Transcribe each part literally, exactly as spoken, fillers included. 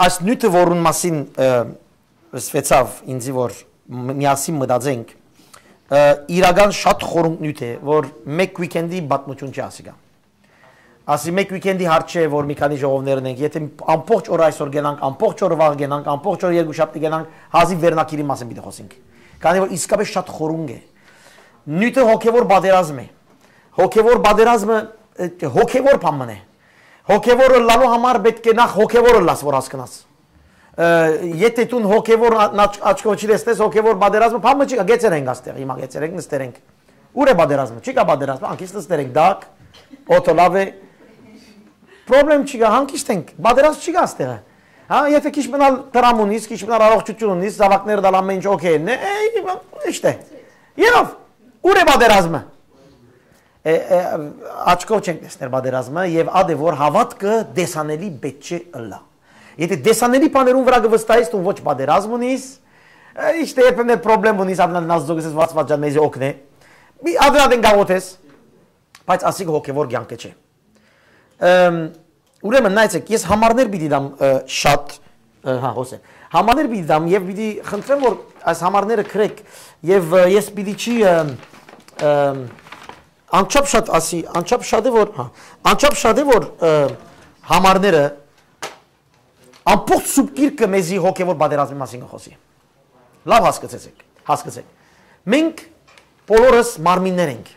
Այս նիւթը, որուն մասին, ը, սվեցաւ ինձի, որ մ-, միասին մտածենք, ը, իրական շատ խորունկ նիւթ է, որ մէկ weekend-ի պատմություն չի, ասիկա։ Ասի, մէկ weekend-ի հարց չէ, որ մի քանի ժողովներ ունենք, եթե ամբողջ օրը այսօր գնանք, ամբողջ օրը վաղ գնանք, ամբողջ օրը երկուշաբթի գնանք, հազիւ վերնագիրի մասին պիտի խոսենք։ Քանի որ իսկապես շատ խորունկ է։ Նիւթը հոգեվոր պատերազմ է։ Հոգեվոր պատերազմը, ը, հոգեվոր բան մըն է։ Հոգեվոր ըլլալու համար պէտք է նախ հոգեվոր ըլլաս, որ հասկնաս։ Ը, եթե դուն հոգեվոր ա-, աչ-, աչքով չի տեսնես, հոգեվոր պատերազմը բան մը չի, գեցեր ենք աստեղ, հիմա գեցեր ենք, նստեր ենք։ Ո՞ւր է պատերազմը, չի կա պատերազմը, անկից նստեր ենք, դակ, օդը լաւ է, պրոբլեմ չի կա, հանգիստ ենք, պատերազմ չի կա աստեղը։ Հա, եթե քիչ մնալ դրամ ունիս, քիչ մնալ առողջություն ունիս, զաւակները դալ ամեն ինչ օքեյ են, է, է, իշտե։ Եղավ, ո՞ւր է պատերազմը։ Է, է, աչքով չենք տեսներ պատերազմը, եւ ադէ որ հաւատքը տեսանելի պէտք չէ ըլլայ։ Եթե տեսանելի բաներուն վրայ կը վստահես, դու ոչ պատերազմ ունիս, ը, իշտե երբեմնե պրոբլեմ ունիս, ադնան Աստծո գսես, վաց վաց ջան, մեզի օգնէ։ Մի ադնան ադեն գաղութես, բայց ասիկ հոգեվոր կյանքը չէ։ Ըմ, ուրեմն նայեցեք, ես համարներ պիտի դամ, ը, շատ, ը, հա, հոսե։ Համարներ պիտի դամ եւ պիտի խնդրեմ, որ այս համարները գրեք եւ, ը, ես պիտի չի, ը, ը, անչափ շատ ասի, անչափ շատ է, որ, հա, անչափ շատ է, որ, ը, համարները ամբողջ Սուրբ Գիրքը մեզի հոգեվոր պատերազմի մասին կը խօսի։ Լաւ հասկացեցեք, հասկացեք։ Մենք բոլորս մարմիններ ենք։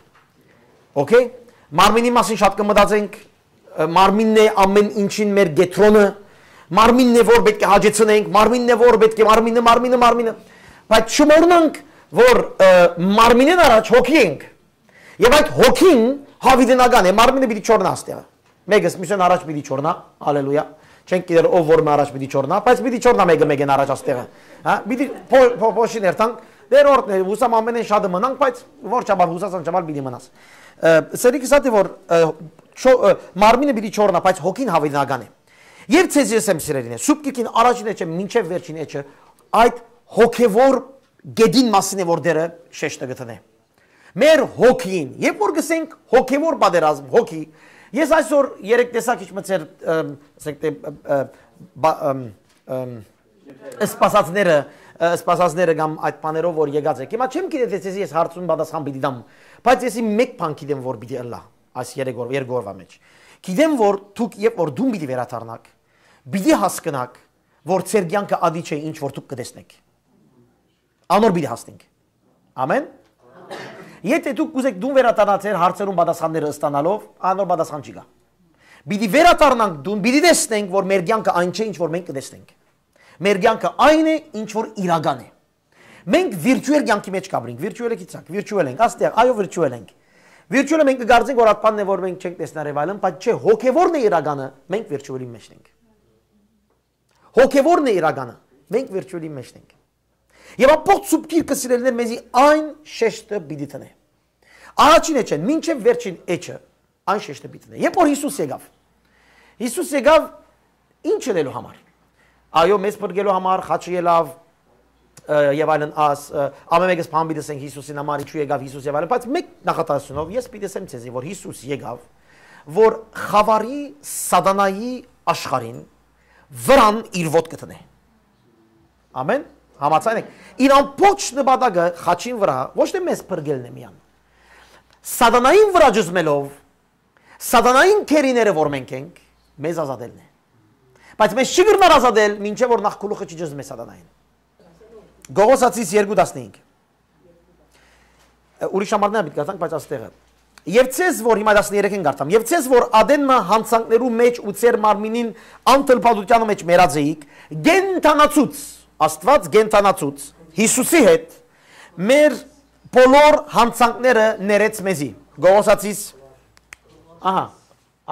Okay? Մարմինի մասին շատ կը մտածենք, ը, մարմինն է ամեն ինչին մեր կեդրոնը, մարմինն է, որ պէտք է հաճեցնենք, մարմինն է, որ պէտք է, մարմինը, մարմինը, մարմինը։ Բայց չմոռնանք, որ, ը, մարմինէն առաջ հոգի ենք։ Եւ այդ հոգին յաւիտենական է, մարմինը պիտի չոռնայ աստեղը։ Մէկս մյուսէն առաջ պիտի չոռնայ, հալելույա։ Չենք գիտեր ով որ մը առաջ պիտի չոռնայ, բայց պիտի չոռնայ մէկը մէկէն առաջ աստեղը։ Հա, պիտի փո-, փո-, փոշի ներթանք, դեր օրդն է, հուսամ ամենէն շատը մնանք, բայց որ չաբար հուսած անչափ պիտի մնաս։ Ը, սերիկս ատի որ, ը, չո-, ը, մարմինը պիտի չոռնայ, բայց հոգին յաւիտենական է։ Եւ ձեզ ես եմ սիրելին է, Սուրբ Գիրքին առաջին էջը մինչեւ վերջին էջը այդ հոգեվոր գետին մասին է, որ դերը շեշտը գտնե։ Մեր հոգին, երբ որ գսենք հոգեվոր պատերազմ, հոգի, ես այսօր երեք տեսակ ինչ մը ձեր, ըմ, ասենք թե, ը, ը, բա-, ըմ, ըմ, սպասածները, ը, սպասածները կամ այդ բաներով որ եկած եք։ Հիմա չեմ գիտեր, թե ձեզի ես հարցուն պատասխան պիտի տամ, բայց ես իմ մէկ բան գիտեմ, որ պիտի ըլլայ այս երեք օր-, երկու օրվա մեջ։ Գիտեմ, որ դուք, երբ որ դուն պիտի վերադառնաք, պիտի հասկնաք, որ ձեր կյանքը ադի չէ, ինչ որ դուք կտեսնեք։ Անոր պիտի հասնենք։ Ամեն։ Եթե դուք կուզեք դուն վերադառնալ ձեր հարցերուն պատասխանները ստանալով, անոր պատասխան չի գա։ Պիտի վերադառնանք դուն, պիտի տեսնենք, որ մեր կյանքը այն չէ, ինչ որ մենք կտեսնենք։ Մեր կյանքը այն է, ինչ որ իրական է։ Մենք վիրտուալ կյանքի մեջ կապրենք, վիրտուալը գիտցաք, վիրտուալ ենք, աստեղ, այո, վիրտուալ ենք։ Վիրտուալը մենք կգարձենք, որ ատպանն է, որ մենք չենք տեսնար եւ այլն, բայց չէ, հոգեվորն է իրականը, մենք վիրտուալի մեջ ենք։ Հոգեվորն է իրականը, մենք վիրտուալի մեջ ենք։ Եւ ամբողջ Սուրբ Գիրքը, սիրելիներ, մեզի այն շեշտը պիտի տնէ։ Առաջին էջէն մինչեւ վերջին էջը այն շեշտը պիտի տնէ։ Երբ որ Յիսուս եկաւ, Յիսուս եկաւ ինչ ընելու համար։ Այո, մեզ փրկելու համար, խաչը ելաւ, ը, եւ այլն, աս, ը, ամեն մեկս բան պիտի ասենք Յիսուսին համար, ինչու եկաւ Յիսուս եւ այլն, բայց մէկ նախադասությունով ես պիտի ասեմ ձեզի, որ Յիսուս եկաւ, որ խաւարի, սատանայի աշխարհին վրան իր ոտքը տնէ։ Ամեն։ Համաձայն եք։ Իր ամբողջ նպատակը խաչին վրայ ոչ թե մեզ փրկելն է միան։ Սատանային վրայ ճզմելով, սատանային գերիները որ մենք ենք, մեզ ազատելն է։ Բայց մեզ չի կրնար ազատել, մինչեւ որ նախ գլուխը չի ճզմե սատանային։ Գողոսացիս երկու տասնհինգ։ Ուրիշ համարներ պիտի կարդանք, բայց աստեղը։ Եվ ցեզ որ, հիմա տասներեքին կարդամ, և ցեզ որ ադեն մը յանցանքներու մեջ ու ձեր մարմինին անթլփատության մեջ մեռած էիք, կենդանացուց, Աստված կենդանացուց, Յիսուսի հետ, մեր բոլոր յանցանքները ներեց մեզի։ Գողոսացիս, ահա,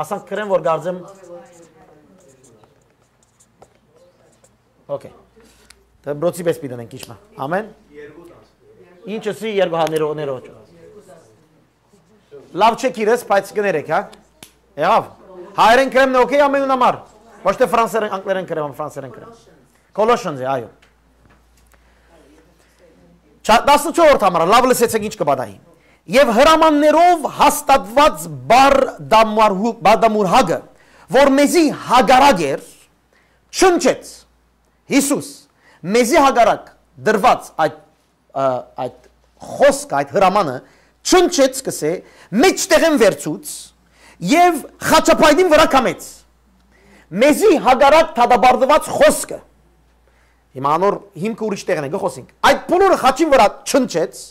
ասանք գրեմ, որ կարծեմ, okay, դե բրոցի պես պիտի դնենք, քիչ մը, ամեն, ինչը սի երկու հա, ներո, ներո, լավ չէ գիրես, բայց կներեք, հա, եղավ, հայերեն գրեմ, okay, ամենուն համար, ոչ թե ֆրանսերեն, անգլերեն գրեմ, ֆրանսերեն գրեմ, Colossians է, այո։ Չա-, տասնչորսերորդ համարը, լավ լսեցեք ինչ կը պատահի։ Եվ հրամաններով հաստատված բարդամարհու-, բարդամուրհակը, որ մեզի հակառակ էր, չնչեց, Յիսուս մեզի հակառակ դրուած այդ, ը, այդ խօսքը, այդ հրամանը, չնչեց, կսէ, մէջտեղէն վերցուց եւ խաչապայտին վրայ կամեց։ Մեզի հակառակ դատապարտուած խօսքը։ Հիմա անոր հիմքը ուրիշ տեղն է, կը խօսենք։ Այդ բոլորը խաչին վրայ չնչեց,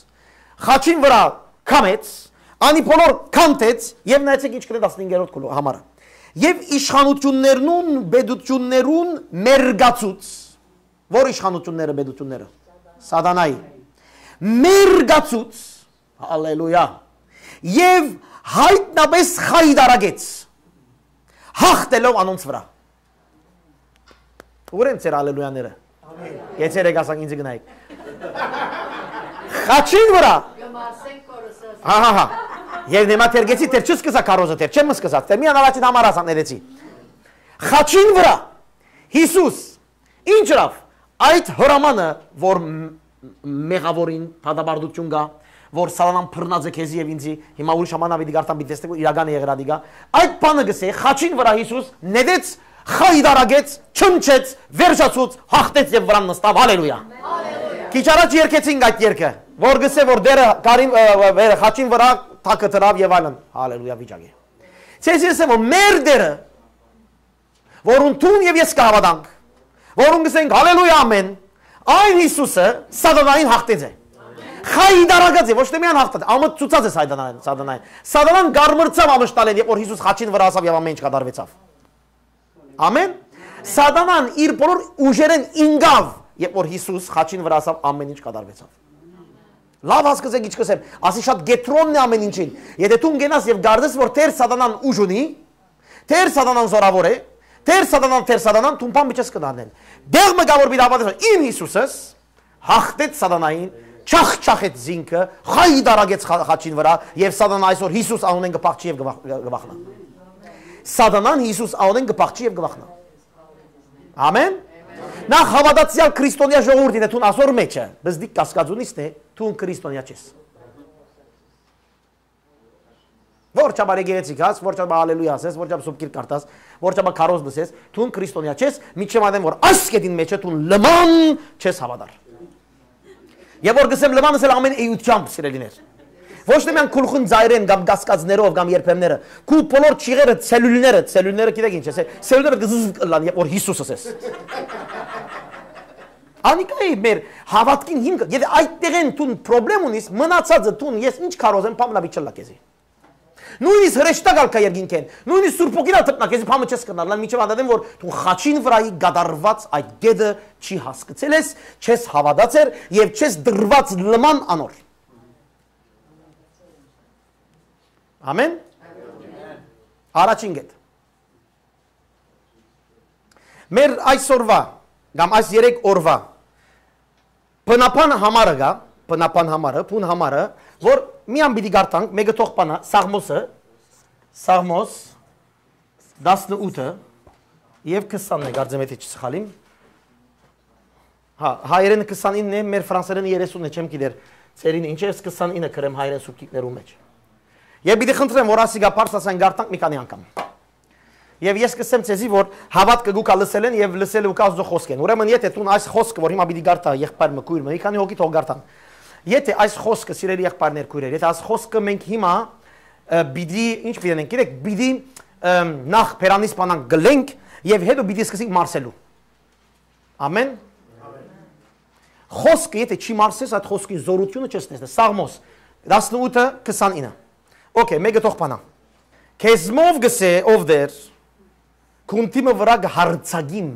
խաչին վրայ կամեց, անի բոլոր կանթեց եւ նայեցեք ինչ կրնա տասնհինգերորդ գլուխ-, համարը։ Եւ իշխանութիւններուն, պետութիւններուն մերկացուց։ Ո՞ր իշխանութիւնները, պետութիւնները։ Սատանայի։ Մերկացուց, հալելույա, եւ յայտնապէս խայտարագեց, հաղթելով անոնց վրայ։ Ո՞ւր են ձեր հալելույաները։ Գեցեր եք ասանք ինձ գնայք։ Խաչին վրայ։ Հա, հա, հա։ Եւ նեմա թերգեցի, թեր չսկսա քարոզը, թեր չեմ սկսած, թեր միան առաջին համար ասանք ներեցի։ Խաչին վրայ Յիսուս ինչ ըրաւ, այդ հրամանը, որ մ-, մեղաւորին դատապարտութիւն կայ, որ սատանան բռնած է քեզի եւ ինձի, հիմա ուրիշ ամանա պիտի կարդամ, պիտի տեսնեք, որ իրական է եղեր ատիկա, այդ բանը կսէ, խաչին վրայ Յիսուս նետեց, խայտարագեց, չնչեց, վերջացուց, հաղթեց եւ վրան նստաւ, հալելույա։ Քիչ առաջ երգեցինք այդ երգը, որ կսէ, որ դերը կարին, ը, ը, վերը խաչին վրայ թակը դրաւ եւ այլն, հալելույա վիճակ է։ Ձեզ ես որ մեր դերը, որուն դուն եւ ես կհաւատանք, որուն կսենք, հալելույա, ամեն, այն Յիսուսը սատանային հաղթեց է։ Խայտարագած է, ոչ թե միայն հաղթած, ամը ցուցած է սատանային, սատանային։ Սատանան գարմրցաւ ամշտալեն, երբ որ Յիսուս խաչին վրայ ասաւ եւ ամեն ինչ կատարվեցաւ։ Ամեն։ Սատանան իր բոլոր ուժերեն ինկաւ, երբ որ Յիսուս խաչին վրայ ասաւ, ամեն ինչ կատարվեցաւ։ Լավ հասկացեք ինչ կսեմ, ասի շատ կեդրոնն է ամեն ինչին։ Եթե դու կենաս եւ գարձես, որ Տեր Սատանան ուժ ունի, Տեր Սատանան զորաւոր է, Տեր Սատանան, Տեր Սատանան, դու բան մի չես կդառնեն։ Դեղ մը կա որ պիտի հաւատես, իմ Յիսուսս հաղթեց Սատանային, չախչախեց զինքը, խայտարագեց խա-, խաչին վրայ, եւ Սատանա այսօր Յիսուս անունեն կը փախչի եւ կը վախ-, կը վախնայ։ Սատանան Յիսուս անունեն կը փախչի եւ կը վախնայ։ Ամեն։ Նախ հաւատացեալ քրիստոնեայ ժողովուրդ, եթե դուն ասոր մեջը, բզդիկ կասկած ունիս, թե դուն քրիստոնեայ չես։ Որ չափ եկեղեցի գաս, որ չափ հալելույա ասես, որ չափ սուբկիր կարդաս, որ չափ քարոզ լսես, դուն քրիստոնեայ չես, միջի մատեն որ այս կետին մեջը դուն լման չես հաւատար։ Եւ որ գսեմ լման ասել ամեն էությամբ, սիրելիներ։ Ոչ թե միայն գլխուն ծայրեն կամ կասկածներով կամ երբեմները, քու բոլոր ճիղերը, ցելուլները, ցելուլները գիտեք ինչ է, սե-, ցելուլները կզզզ կլան, երբ որ Յիսուս ասես։ Անիկա է մեր հաւատքին հիմքը։ Եթե այդ տեղեն դուն պրոբլեմ ունիս, մնացածը դուն, ես ինչ քարոզ եմ, փամլա պիտի չլա քեզի։ Նույնիսկ հրեշտակ ալ կայ երկինքեն, նույնիսկ Սուրբ Հոգին ալ դպնա քեզի, փամը չես կրնար, լան միջև անդադեն որ դու խաչին վրայի գդարված այդ գետը չի հասկցել ես, չես հաւատացեր եւ չես դրված լման անոր։ Ամեն։ Առաջին գետ։ Մեր այսօրվա կամ այս երեք օրվա բնապան համարը գա, բնապան համարը, բուն համարը, որ միան պիտի գարտանք, մեկը թող բանա, Սաղմոսը, Սաղմոս տասնութը եւ քսանն է, կարծեմ, եթե չսխալիմ։ Հա, հայերեն քսանինն է, մեր ֆրանսերեն երեսունն է, չեմ գիտեր, ծերին ինչ է, քսանինը կրեմ հայերեն սուբկիկներու մեջ։ Եւ պիտի խնդրեմ, որ ասիկա պարս ասեն գարտանք մի քանի անգամ։ Եվ ես կսեմ ձեզի, որ հաւատքը գուկա լսել են եւ լսել ու կա Աստծո խոսք են։ Ուրեմն, եթե դուն այս խոսքը, որ հիմա պիտի գարտա եղբայր մը, քույր մը, մի քանի հոգի թող գարտան։ Եթե այս խոսքը, սիրելի եղբայրներ, քույրեր, եթե այս խոսքը մենք հիմա, ը, պիտի, ինչ պիտի անենք, գիտեք, պիտի, ը, նախ բերանից բանանք գլենք եւ հետո պիտի սկսենք մարսելու։ Ամեն։ Խոսքը, եթե չի մարսես, այդ խոսքին զորությունը չես տեսնես։ Սաղմոս տասնութը քսանինը։ Okay, մեկը թող բանա։ Քեզմով գսե, ով Տեր, քուն դիմը վրայ կհարձակիմ։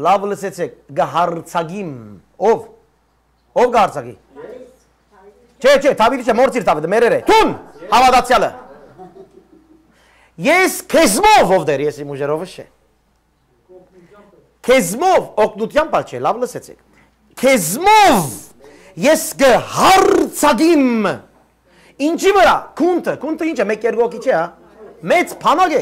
Լավ լսեցեք, կհարձակիմ։ Ով։ Ով կհարձակի։ Չէ, չէ, Դավիթը չէ, մորցիր Դավիթը, մերեր է։ Դուն, հաւատացեալը։ Ես քեզմով, ով Տեր, ես իմ ուժերովս չէ։ Քեզմով, օգնությամբ ալ չէ, լավ լսեցեք։ Քեզմով ես կհարձակիմ։ Ինչի վրա։ Քունթը, քունթը ինչ է, մեկ երկու հոգի չէ, հա։ Մեծ բանակ է։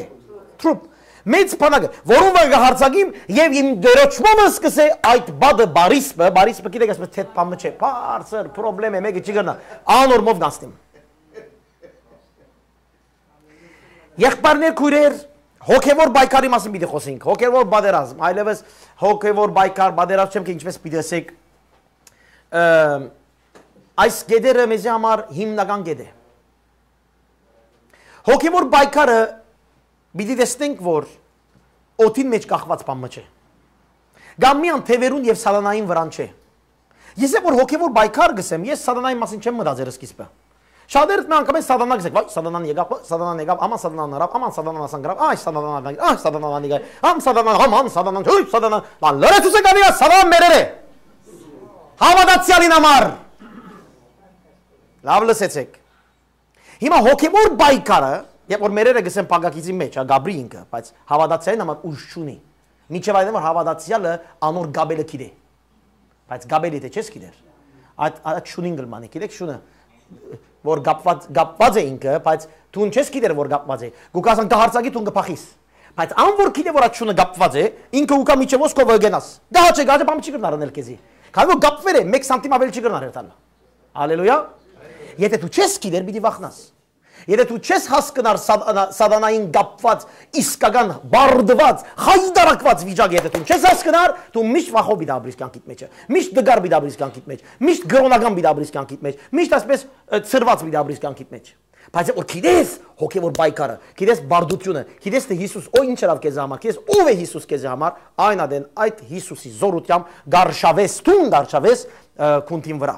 Թրուպ։ Մեծ բանակ է, որուն վրա կհարձակիմ եւ իմ դերոճմամս կսե այդ բադը բարիսպը, բարիսպը գիտեք, այսպես թեթ բան չէ, բարձր պրոբլեմ է, մեկը չի գնա, անոր մով գանցնիմ։ Եղբայրներ, քույրեր, Հոգեվոր պայքարի մասին պիտի խոսենք։ Հոգեվոր պատերազմ, այլևս հոգեվոր պայքար, պատերազմ չեմ, թե ինչպես պիտի ասեք։ Ը, այս գետերը մեզի համար հիմնական գետ է։ Հոգեվոր պայքարը պիտի տեսնենք, որ օդին մեջ կախված բան մը չէ։ Կամ միան թեւերուն եւ սատանային վրան չէ։ Ես է որ հոգեվոր պայքար գսեմ, ես սատանայի մասին չեմ մտածեր սկիզբը։ Շատերս մի անգամ են սատանա գսեք, վայ, սատանան եկավ, վայ, սատանան եկավ, աման սատանան հրավ, աման սատանան ասան գրավ, այ սատանան եկավ, այ սատանան եկավ, ամ սատանան, աման սատանան, հույ սատանան, լան լրացուց եք անիա, սատանան մերեր է։ Հավատացյալին համար։ Լավ լսեցեք։ Հիմա հոգեվոր պայքարը, երբ որ մերերը գսեն փակագիծի մեջ, հա, Գաբրի ինքը, բայց հավատացյալին համար ուժ չունի։ Մինչև այն որ հավատացյալը անոր գաբելը գիտե։ Բայց գաբելի դե չես գիտեր։ Այդ, այդ շունին գլմանի, գիտեք շունը, որ կապված, կապված է ինքը, բայց դուն չես գիտեր որ կապված է։ Գուկասան կհարցակի դուն կփախիս։ Բայց ան որ գիտե որ այդ շունը կապված է, ինքը ուկա միջև ոսկովը գնաս։ Գահաճ է, գահաճ է, բան չի կրնար անել քեզի։ Քանի որ կապվեր է, մեկ սանտիմ ավել չի կրնար հերթալ։ Հալելույա։ Եթե դու չես գիտեր, պիտի վախնաս։ Եթե դու չես հասկնար սատանա-, սատանային կապված, իսկական բարդված, խայտարակված վիճակ, եթե դու չես հասկնար, դու միշտ վախով պիտի ապրիս կյանքիդ մեջ, միշտ դգար պիտի ապրիս կյանքիդ մեջ, միշտ գրոնական պիտի ապրիս կյանքիդ մեջ, միշտ այսպես, ը, ցրված պիտի ապրիս կյանքիդ մեջ։ Բայց որ գիտես հոգեվոր պայքարը, գիտես բարդությունը, գիտես թե Հիսուս, օ, ինչ ըրավ քեզի համար, գիտես ով է Հիսուս քեզի համար, այն ադեն այդ Հիսուսի զորությամբ գարշավես, դուն գարշավես, ը, քունտին վրայ։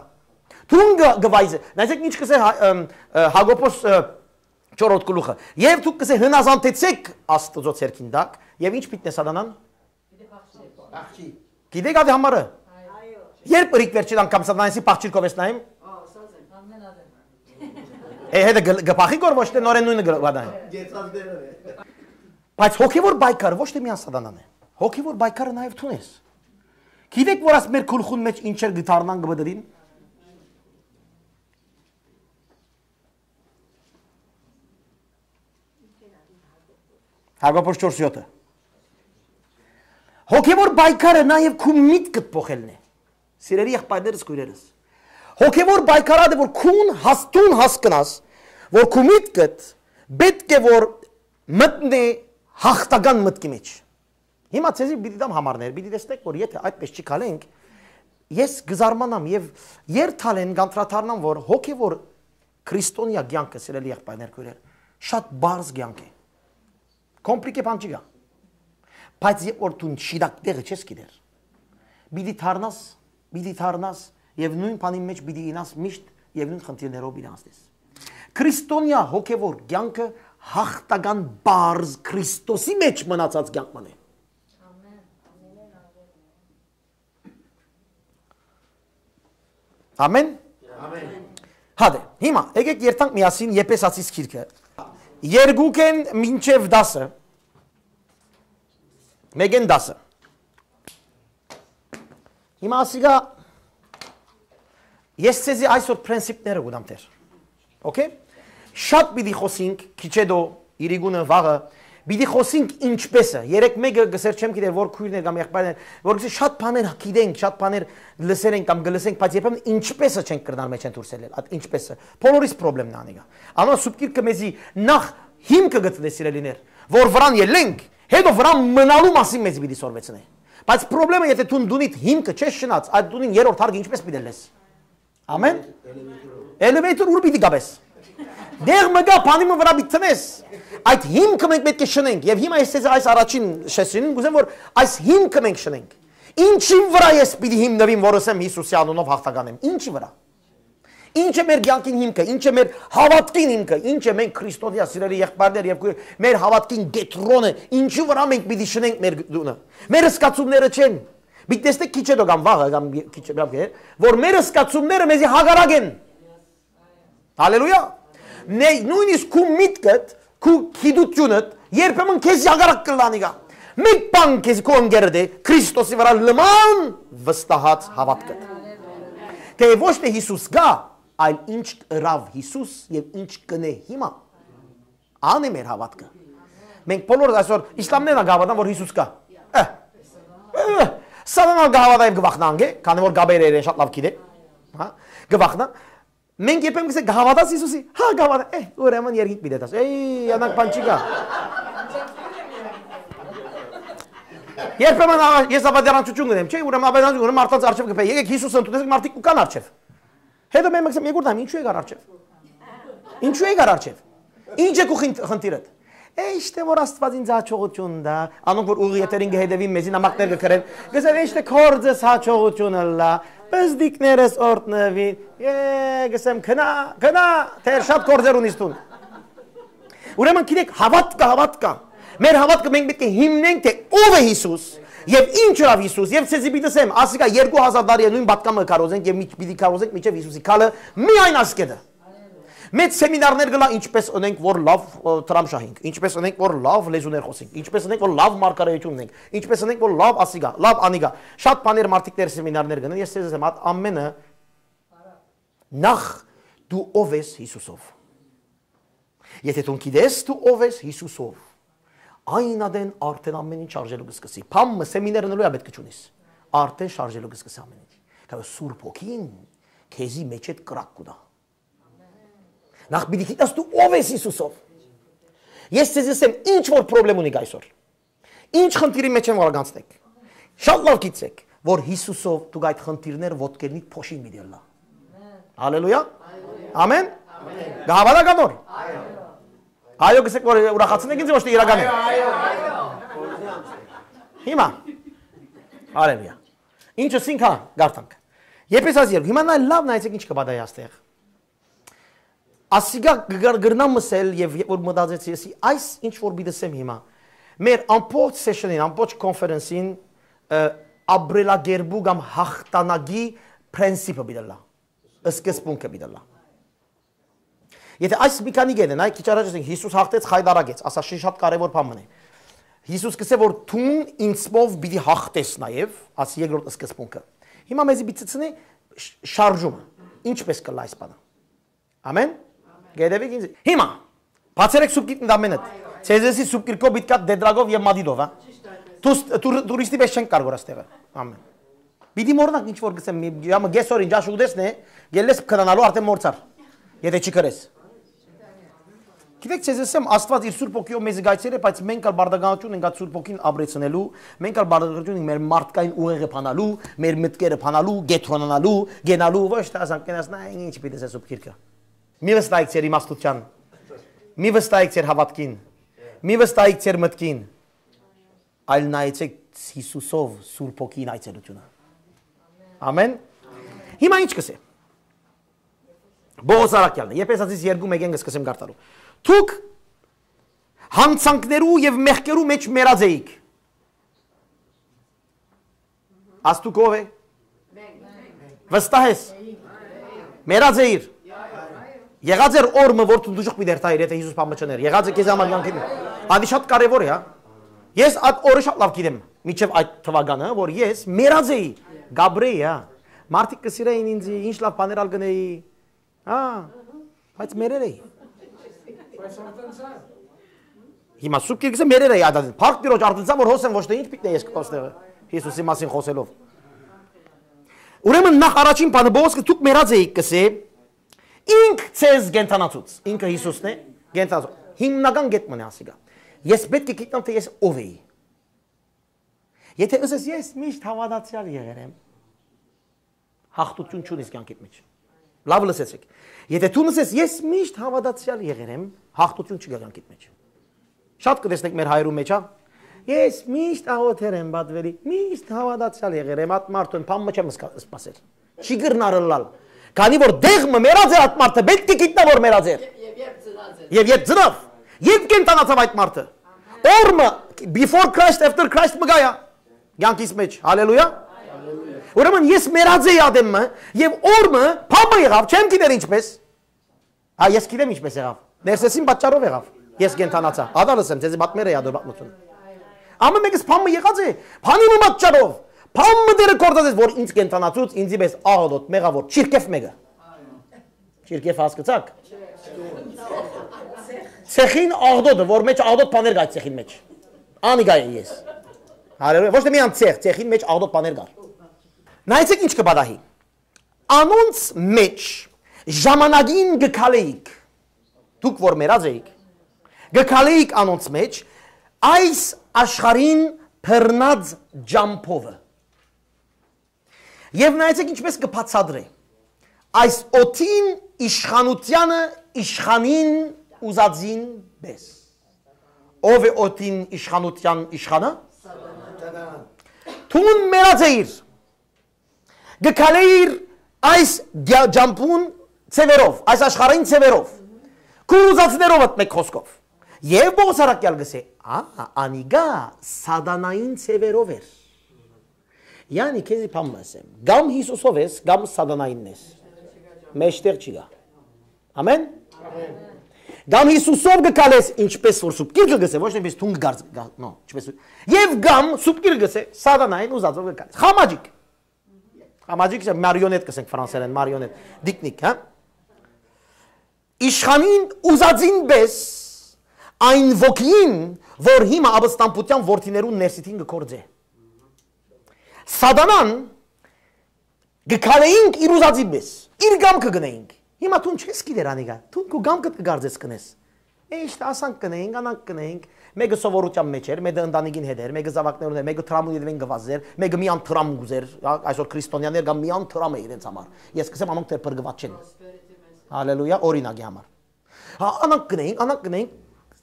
Դուն գ-, գվայզե-, նայեցեք ինչ կսե Հա-, ըմ, ը, Հակոբոս, ը, չորրորդ գլուխը։ Եվ դուք կսե հնազանդեցեք Աստուծոյ ցերկին տակ, եւ ինչ պիտի սատանան։ Աղջի։ Գիտեք ադի համարը։ Երբ ըրիկ վերջին անգամ սատանայսի փախչիր կովես նայեմ։ Ա, սա ձեն։ Է, հետը գ-, գ-, փախի գոր ոչ թե նորեն նույնը գ-, վադան։ Գեցած դերը։ Բայց հոգեվոր պայքարը ոչ թե միան սատանան է։ Հոգեվոր պայքարը նաեւ դուն ես։ Գիտեք որ աս մեր գլխուն մեջ ինչեր գտարնան գ-, բդրին։ Հակոբոս չորս յոթը։ Հոգեվոր պայքարը նաև քու միտքդ փոխելն է։ Սիրելի եղբայրներս, քույրերս։ Հոգեվոր պայքարը, որ քուն հաս-, դուն հասկնաս, որ քու միտքդ պետք է որ մտնի հաղթական մտքի մեջ։ Հիմա ձեզի պիտի տամ համարներ, պիտի տեսնեք, որ եթե այդպես չի քալենք, ես կզարմանամ եւ երթալ են կանդրադառնամ, որ հոգեվոր քրիստոնեայ կյանքը, սիրելի եղբայրներ, քույրեր, շատ բարձ կյանք է։ Կոմպլիկե բան չի գա։ Բայց երբ որ դուն շիտակ տեղը չես գիտեր, պիտի դառնաս, պիտի դառնաս եւ նույն բանի մեջ պիտի ինաս միշտ եւ նույն խնդիրներով պիտի անցնես։ Քրիստոնեայ հոգեվոր կյանքը հաղթական բարձ Քրիստոսի մեջ մնացած կյանք մնե։ Ամեն։ Ամեն։ Հա դե, հիմա եկեք երթանք միասին Եփեսացիս գիրքը։ Երկուքեն մինչև դասը, մեկեն դասը։ Հիմա ասիկա, ես ձեզի այսօր պրինցիպները կուտամ դեր։ Okay? Շատ պիտի խոսենք, քիչ հետո, իրիկունը, վաղը, պիտի խոսենք ինչպես է։ Երեք մեկը գսեր չեմ գիտեր, որ քույրներ կամ եղբայրներ, որ գսեր շատ բաներ գիտենք, շատ բաներ լսեր ենք կամ գլսենք, բայց երբեմն ինչպես է չենք կրնար մեջ են դուրս ելել, այդ ինչպես է։ Բոլորիս պրոբլեմն է անիկա։ Անոր սուպ գիրքը մեզի նախ հիմքը գտնե, սիրելիներ, որ վրան ելենք, հետո վրան մնալու մասին մեզի պիտի սորվեցնե։ Բայց պրոբլեմը, եթե դու դունիդ հիմքը չես շնած, այդ դունին երրորդ հարկը ինչպես պիտի լես։ Ամեն։ Էլևեյթոր ուր պիտի գաբես։ Դեղ մը գա, բանի մը վրա պիտի տնես։ Այդ հիմքը մենք պետք է շնենք։ Եվ հիմա ես ձեզ այս առաջին շեշին կուզեմ, որ այս հիմքը մենք շնենք։ Ինչի վրա ես պիտի հիմնվեմ, որ ասեմ Հիսուսի անունով հաղթական եմ։ Ինչի վրա։ Ինչ է մեր կյանքին հիմքը, ինչ է մեր հավատքին հիմքը, ինչ է մենք քրիստոնեայ սիրելի եղբայրներ եւ քույր, մեր հավատքին կեդրոնը, ինչի վրա մենք պիտի շնենք մեր դունը։ Մեր զգացումները չեն։ Պիտի տեսնեք քիչ հետո կամ վաղը կամ քիչ հետո, որ մեր զգացումները մեզի հակառակ են։ Հալելույա։ Նե-, նույնիսկ քու միտքդ, քու գիտությունդ երբեմն քեզի հակառակ կլանի գա։ Մեկ բան քեզի քո ընկերդ է, Քրիստոսի վրա լման վստահած հավատքդ։ Թե ոչ թե Հիսուս գա, այլ ինչ ըրավ Հիսուս եւ ինչ կնե հիմա։ Ան է մեր հավատքը։ Մենք բոլորս այսօր իսլամներն ալ կհավատան, որ Հիսուս կա։ Ը, ը, սատանան կհավատա եւ կվախնա անգե, քանի որ գաբերը իրեն շատ լավ գիտե։ Հա, կվախնա։ Մենք երբեմն կսենք, «Կհավատաս Հիսուսի»։ Հա, կհավատա։ Է, ուրեմն երկինք պիտի դաս։ Էյ, անակ բան չի գա։ Երբեմն ա- ես աւետարանչութիւն կ'ընեմ, չէ՞, ուրեմն աւետարանչութիւն, ուրեմն մարդկանց առջեւ կը փեի, «Եկեք Յիսուսը ընդունեցեք», մարդիկ կու կան առջեւ։ Հետո մեն մեկը, «Եկուր դամ, ինչու եկար առջեւ։ Ինչու եկար առջեւ։ Ինչ է քու խին- խնդիրդ»։ Է, իշտե որ Աստուած ինձ հաջողութիւն տայ, անոնք որ ուղիղ եթերին կը հետեւին, մեզի նամակներ կը գրեն, կ'ըսեն, «Իշտե քորձս հաջողութիւն ըլլայ, պզդիկներս օրտնուին»։ Է, կ'ըսեմ, «Քնա, քնա, թէ շատ քորձեր ունիս դուն»։ Ուրեմն գիտեք, հաւատքը, հաւատքը։ Մեր հաւատքը մենք պիտի հիմնենք, թէ ով է Յիսուս, եւ ինչ ըրաւ Յիսուս, եւ ցեզի պիտի ասեմ, ասիկա երկու հազար տարի է նոյն պատգամը կարոզենք եւ միջ- պիտի կարոզենք մինչեւ Յիսուսի քալը միայն այս կետը։ Մեծ սեմինարներ կ'ըլլայ, ինչպես ընենք որ լաւ, ը, Թրամշահենք, ինչպես ընենք որ լաւ լեզուներ խօսենք, ինչպես ընենք որ լաւ մարգարեութիւն ունենք, ինչպես ընենք որ լաւ ասիկա, լաւ անիկա։ Շատ բաներ մարդիկ դեր սեմինարներ կ'ընեն, ես ցեզի ասեմ, ատ ամենը նախ դու ով ես Յիսուսով։ Եթե դուն գիտես դու ով ես Յիսուսով, այն ատեն արդեն ամեն ինչ շարժելու կը սկսի։ Փամը սեմինար ընելու ա պետք չունիս։ Արդեն շարժելու կը սկսի ամեն ինչ։ Քանի Սուրբ Հոգին քեզի մեջ այդ կրակ կու տայ։ Նախ պիտի գիտես դու ով ես Յիսուսով։ Ես ցեզի ասեմ, ինչ որ պրոբլեմ ունիք այսօր, ինչ խնդիրի մեջ են որ կանցնեք, շատ լաւ գիտցեք, որ Յիսուսով դուք այդ խնդիրները ոտքերնիդ փոշին պիտի ըլլայ։ Հալելույա։ Ամեն։ Կհաւատաք անոր։ Այո, գսեք որ ուրախացնեք ինձ, ոչ թե իրական է։ Հիմա։ Հալելույա։ Ինչ ըսինք, հա, գարտանք։ Եփեսացիներ, հիմա նայ լաւ նայեցեք ինչ կը պատահի աստեղ։ Ասիկա կը կր- կրնամ մսել եւ երբ որ մտածեցի, եսի այս ինչ որ պիտի ասեմ հիմա, մեր ամբողջ session-ին, ամբողջ conference-ին, ը, ապրելակերպու կամ հաղթանակի principle պիտի ըլլայ, սկզբունքը պիտի ըլլայ։ Եթե այս մի քանի կետը, նայ, քիչ առաջ ասենք, Յիսուս հաղթեց, խայտարակեց, ասա շի- շատ կարեւոր բան մնե։ Յիսուս կսե որ դուն ինձմով պիտի հաղթես նաեւ, աս երկրորդ սկզբունքը։ Հիմա մեզի պիտի ցցնի շ- շարժումը, ինչպես կլա այս բանը։ Ամեն։ Գետևիկ ինձ։ Հիմա, բացերեք սուպ գիտնդ ամենը։ Ցեզեսի սուպ կիրքով պիտի կատ դեդրագով եւ մադիդով, հա։ Տուս- տուր- տուրիստի պես չենք կար գոր աստեղը։ Ամեն։ Պիտի մոռնաք ինչ որ գսեմ, մի- յամը գեսոր ինչ աշուտեսն է, գելլես քնանալու արդեն մորցար, եթե չի քրես։ Գիտեք, ցեզ ասեմ, Աստված իր Սուրբ Հոգիով մեզի գայցեր է, բայց մենք ալ բարդականություն ենք այդ Սուրբ Հոգին ապրեցնելու, մենք ալ բարդականություն ենք մեր մարդկային ուղեղը փանալու, մեր մտքերը փանալու, գետրոնանալու, գենալու, ոչ թե ասանք կենաս, նա ինչ պիտի ասե Սուրբ Գիրքը։ Մի վստահեք ձեր իմաստության, մի վստահեք ձեր հաւատքին, մի վստահեք ձեր մտքին, այլ նայեցեք Յիսուսով Սուրբ Հոգին այցելությունը։ Ամեն։ Հիմա ինչ կսե։ Պողոս առաքյալն է, Եփեսացիս երկու մեկեն կսկսեմ կարդալու։ Դուք յանցանքներու եւ մեղքերու մեջ մեռած էիք։ Աս դուք ով է։ Վստահ ես։ Մեռած էիր։ Եղած էր օր մը, որ դու դուժուկ պիտի երթայիր, եթե Յիսուս բան մը չներ։ Եղած է քեզ համար կյանքի մեջ։ Ադի շատ կարևոր է, հա։ Ես այդ օրը շատ լավ գիտեմ, միջև այդ թվականը, որ ես մեռած էի, Գաբրեի, հա։ Մարդիկ կը սիրեին ինձ, ինչ լավ բաներ ալ կնեի, հա, բայց մերեր էի։ Հիմա Սուրբ Գիրքը մերեր էի ադած։ Փառք Տիրոջ, արդեն որ հոս եմ, ոչ թե ինչ պիտի ես կտոստեղը, Յիսուսի մասին խոսելով։ Ուրեմն նախ առաջին բանը Պողոսը դուք մեռած էիք կսե, ինք ցեզ կենդանացուց, ինքը Յիսուսն է, կենդանացուց։ Հիմնական գետ մնե ասիկա։ Ես պետք է գիտնամ, թե ես ով էի։ Եթե ըսես, «Ես միշտ հաւատացեալ եղեր եմ», հաղթություն չունիս կյանքիդ մեջ։ Լավ լսեցեք։ Եթե դու ըսես, «Ես միշտ հաւատացեալ եղեր եմ», հաղթություն չի գա կյանքիդ մեջ։ Շատ կտեսնեք մեր հայերու մեջ, հա։ «Ես միշտ աղոթեր եմ, պատվելի, միշտ հաւատացեալ եղեր եմ, այդ մարդուն բան մը չեմ սպասել»։ Չի կրնար ըլլալ։ Քանի որ դեղ մը մեռած էր այդ մարդը, պետք է գիտնա որ մեռած էր։ Եւ երբ ծնած էր։ Եվ երբ ծնավ, երբ կենդանացավ այդ մարդը։ Օրը, before Christ, after Christ մը գայա։ Կյանքիս մեջ, հալելույա։ Ուրեմն ես մեռած էի ադեմը, եւ օրը բան մը եղավ, չեմ գիտեր ինչպես։ Հա, ես գիտեմ ինչպես եղավ։ Ներսեսին պատճառով եղավ։ Ես կենդանացա։ Ադալ ասեմ, ձեզի պատմեր էի ադոր պատմությունը։ Ամեն մեկս բան մը եղած է, բանի մը պատճառով։ Բան մը դերը կործած ես, որ ինձ կենդանացուց, ինձի պես աղոտ մեղա, որ չիրքեվ մեկը։ Չիրքեվ հասկցաք։ Ցեխին աղդոտը, որ մեջ աղդոտ բաներ կա ցեխին մեջ։ Անիգա է ես։ Հալելույա, ոչ թե միան ցեխ, ցեխին մեջ աղդոտ բաներ կար։ Նայեցեք ինչ կը պատահի։ Անոնց մեջ ժամանակին կը քալեիք, դուք որ մեռած էիք, կը քալեիք անոնց մեջ, այս աշխարհին բռնած ճամբովը։ Եւ նայեցէք ինչպէս կը բացատրէ. այս օդին իշխանութեանը իշխանին ուզածին պէս։ Ո՞վ է օդին իշխանութեան իշխանը։ Դուն մեռած էիր, կը քալէիր այս գա- ճամբուն ձեւերով, այս աշխարհային ձեւերով, քու ուզածներովդ, մէկ խօսքով։ Եւ Պողոս առաքեալ կ'ըսէ. «Ա, անիկա սատանային ձեւերով էր»։ Յանի, քեզի բան մը ասեմ. կամ Յիսուսով ես, կամ սատանայինն ես։ Մեջտեղ չի գա։ Ամեն։ Կամ Յիսուսով կը քալես, ինչպես որ Սուրբ Գիրքը կ'ըսէ, ոչ նայնպես թուն կը գարզ-, գա- նո, ինչպես որ- եւ կամ Սուրբ Գիրքը կ'ըսէ, սատանային ուզածով կը քալես։ Խամաճիկ։ Խամաճիկ չէ, մարիոնետ կ'ըսենք ֆրանսերեն, մարիոնետ, դիկնիկ, հա։ Իշխանին ուզածին պէս, այն ոգին, որ հիմա ապստամբութեան որդիներուն ներսիդին կը գործէ։ Սատանան կը քալէինք իր ուզածին պէս, իր կամքը կ'ընէինք։ Հիմա դուն չես գիտեր անիկա, դուն քու կամքդ կը կարծես կ'ընես։ Է, իշտ, ասանք կ'ընէինք, անանք կ'ընէինք, մէկը սովորութեան մէջ էր, մէկը ընտանիքին հետ էր, մէկը զաւակներուն հետ, մէկը դրամուն ետեւէն կ'ըսէր, մէկը միան դրամ կ'ուզէր, ա- այսօր քրիստոնեաներ կան միան դրամը իրենց համար։ Ես կ'ըսեմ, անոնք դեռ փրկուած չեն։ Հալելույա, օրինակի համար։ Հա, անանք կ'ընէինք, անանք կ'ընէինք,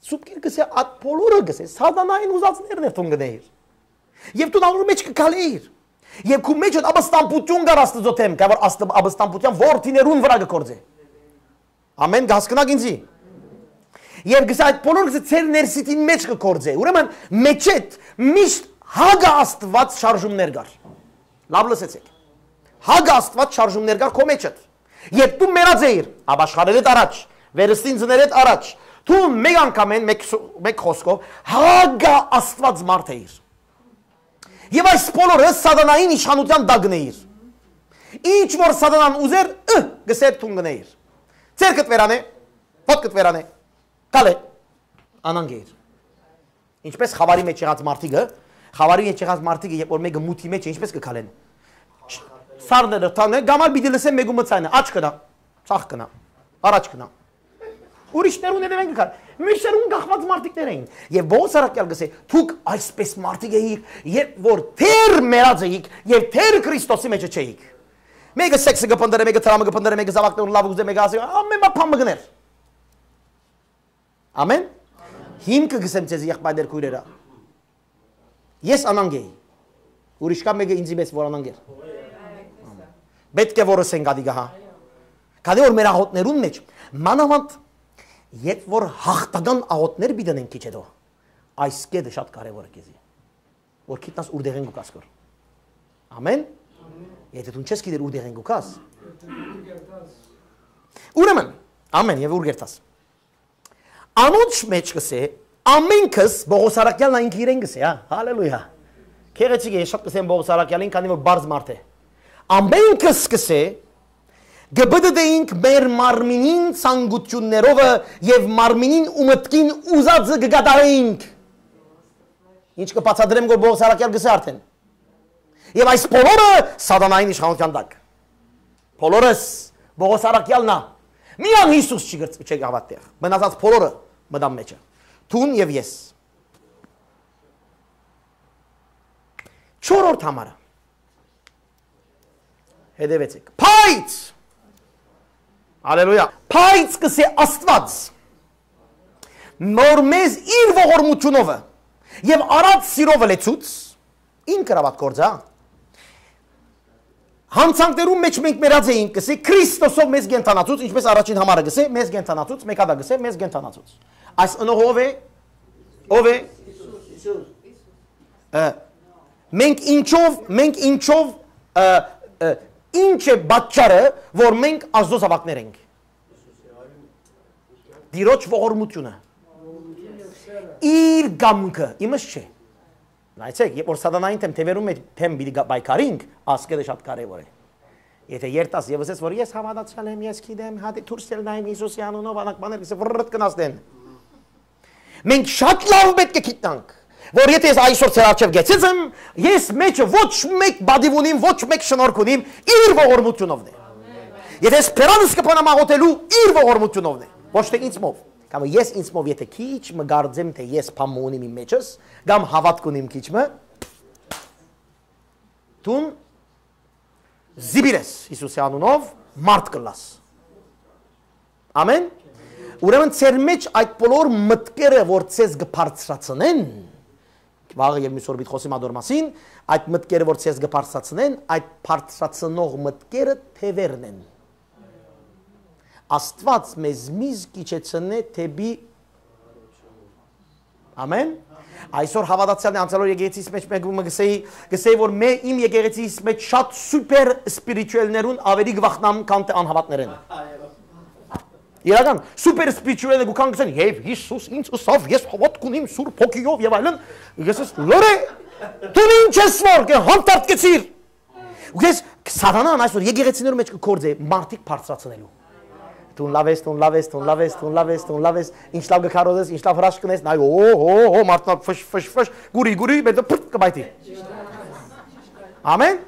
Սուրբ Գիրքը կ'ըսէ, այդ բոլորը կ'ըսէ, սատանային ուզածներն էր դուն կ'ընէիր։ Եւ դու անոր մէջ կը քալէիր։ Եւ քու մէջդ ապստամբութիւն կար Աստուծոյ դէմ, կա որ Աստուած ապստամբութեան որդիներուն վրայ կը գործէ։ Ամեն, կ'հասկնաք ինձի։ Եւ կ'ըսէ, այդ բոլորը կ'ըսէ, ձեր ներսիդին մէջ կը գործէ։ Ուրեմն, մէջդ միշտ հակը Աստուած շարժումներ կար։ Լաւ լսեցէք։ Հակը Աստուած շարժումներ կար քո մէջդ։ Երբ դու մեռած էիր, ապաշխարելէդ առաջ, վերստին ծներէդ առաջ, դու մէկ անգամէն, մէկ սո- մէկ խօսքով, հակը Աստուած մարդ էիր։ Եւ այս բոլորը սատանային իշխանութեան տակն էիր։ Ինչ որ սատանան ուզեր, ը, կ'ըսէր, դուն կ'ընէիր։ Ձեռքդ վերանէ, ոտքդ վերանէ, քալէ, անանք էիր։ Ինչպես խաւարի մէջ եղած մարդիկը, խաւարի մէջ եղած մարդիկը, երբ որ մէկը մութի մէջ է, ինչպես կը քալեն։ Սառները տանը, կամ ալ պիտի լսեն մէկու մը ձայնը, աջ գնայ, ձախ գնայ, առաջ գնայ։ Ուրիշներուն ետեւէն կը քալ։ Մյուսներուն կախուած մարդիկներ էին։ Եւ Պողոս առաքեալ կ'ըսէ, դուք այսպես մարդիկ էիք, երբ որ դեռ մեռած էիք եւ դեռ Քրիստոսի մէջ չէիք։ Մէկը սեքսը կը փնտռէ, մէկը դրամը կը փնտռէ, մէկը զաւակներուն լաւ կ'ուզէ, մէկը ասի, ամեն բան մը կ'ընէր։ Ամեն։ Հիմքը կ'ըսեմ ձեզի, եղբայրներ, քոյրերա։ Ես անանկ էի։ Ուրիշ կա մէկը ինձի մեծ որ անանկ էր։ Պէտք է որ ըսենք ադիկա, հա։ Քանի որ մեր աղօթներուն մէջ, մանաւանդ, երբ որ հաղթական աղօթներ պիտի ընենք քիչ հետո, այս կետը շատ կարեւոր է քեզի։ Որ գիտնաս ուր դեղեն կու գաս գոր։ Ամեն։ Եթե դու չես գիտեր ուր դեղեն կու գաս։ Ուրեմն, ամեն, եւ ուր կերտաս։ Անոնց մէջ կ'ըսէ, ամենքս, Պողոս առաքեալն այն իրեն կ'ըսէ, հա, հալելույա։ Գեղեցիկ է, ես շատ կ'ըսեմ Պողոս առաքեալին, քանի որ բարձ մարդ է։ Ամենքս կ'ըսէ, կը պտտէինք մեր մարմինին ցանկութիւններովը եւ մարմինին ու մտքին ուզածը կը կատարէինք։ Ինչ կը բացատրեմ, որ Պողոս առաքեալ կ'ըսէ արդեն։ Եւ այս բոլորը սատանային իշխանութեան տակ։ Բոլորս, Պողոս առաքեալն ա։ Միան Յիսուս չի գրծ-, չի գաւատեղ։ Մնացած բոլորը մտան մեջը։ Դուն եւ ես։ Չորրորդ համարը։ Հետևեցեք։ Բայց, հալելույա, բայց կ'ըսէ Աստուած, որ մեզ իր ողորմութիւնովը եւ առած սիրովը լեցուց, ինքը հրաւատ գործ, հա։ Յանցանքներուն մէջ մենք մեռած էինք, կ'ըսէ, Քրիստոսով մեզ կենդանացուց, ինչպես առաջին համարը կ'ըսէ, մեզ կենդանացուց, մեկ հատա կ'ըսէ, մեզ կենդանացուց։ Այս ընողը ով է, ով է։ Ը, մենք ինչով, մենք ինչով, ը, ը, ինչ է պատճառը, որ մենք Աստուծոյ զաւակներ ենք։ Տիրոջ ողորմութիւնը։ Իր կամքը, իմս չէ։ Նայեցեք, երբ որ սատանային թեմ թեւերուն մեջ թեմ պիտի գա- պայքարինք, ասկերը շատ կարեւոր է։ Եթե երթաս եւ ասես, որ ես հաւատացեալ եմ, ես գիտեմ, հատի դուրս ել նայեմ Յիսուսի անունով, անակ բաներ կսե վրըտ կնաս դեն։ Մենք շատ լավ պէտք է գիտնանք, որ եթե ես այսօր ձեր առջեւ գեցեց եմ, ես մեջը ոչ մեկ բադիվ ունիմ, ոչ մեկ շնորհք ունիմ, իր ողորմութիւնովն է։ Եթե ես բերանս կփանամ աղոթելու, իր ողորմութիւնովն է, ոչ թե ինձմով։ Կամ ես ինձմով եթե քիչ մը կարծեմ, թե ես բան մը ունիմ իմ մեջս, կամ հաւատք ունիմ քիչ մը, դուն զիպիր ես Յիսուսի անունով, մարդ կ'ըլլաս։ Ամեն։ Ուրեմն ձեր մեջ այդ բոլոր մտքերը, որ ձեզ կը բարձրացնեն, վաղը եւ մյուս օր պիտի խոսեմ ադոր մասին, այդ մտքերը, որ ձեզ կը բարձրացնեն, այդ բարձրացնող մտքերը թեւերն են։ Աստուած մեզ միշտ կ'իջեցնէ դէպի Ամեն։ Այսօր հաւատացեալ է, անցյալ օր եկեղեցիս մէջ մէկ մը կսեի, կսեի, որ մէ իմ եկեղեցիս մէջ շատ սուպեր սպիրիչուելներուն ավելի կվախնամ, քան թե անհաւատներէն։ Իրական, սուպեր սպիրիչուելները կու կան կսեն, «Եվ Յիսուս ինձ ըսաւ, ես հաւատք ունիմ Սուրբ Հոգիով» եւ այլն, ես ես, լոռե, դուն ինչ ես որ, կը հանդարտկեցիր։ Ու ես, սատանան այսօր եկեղեցիներու մէջ կը գործէ մարդիկ բարձրացնելու։ Դուն լաւ ես, դուն լաւ ես, դուն լաւ ես, դուն լաւ ես, դուն լաւ ես, ինչ լաւ կը քարոզես, ինչ լաւ հրաշք կ'ընես, նայ, օ, օ, օ, մարդնա, ֆշ, ֆշ, ֆշ, գուրի, գուրի, մեր դը փրտ կը պայթի։ Ամեն։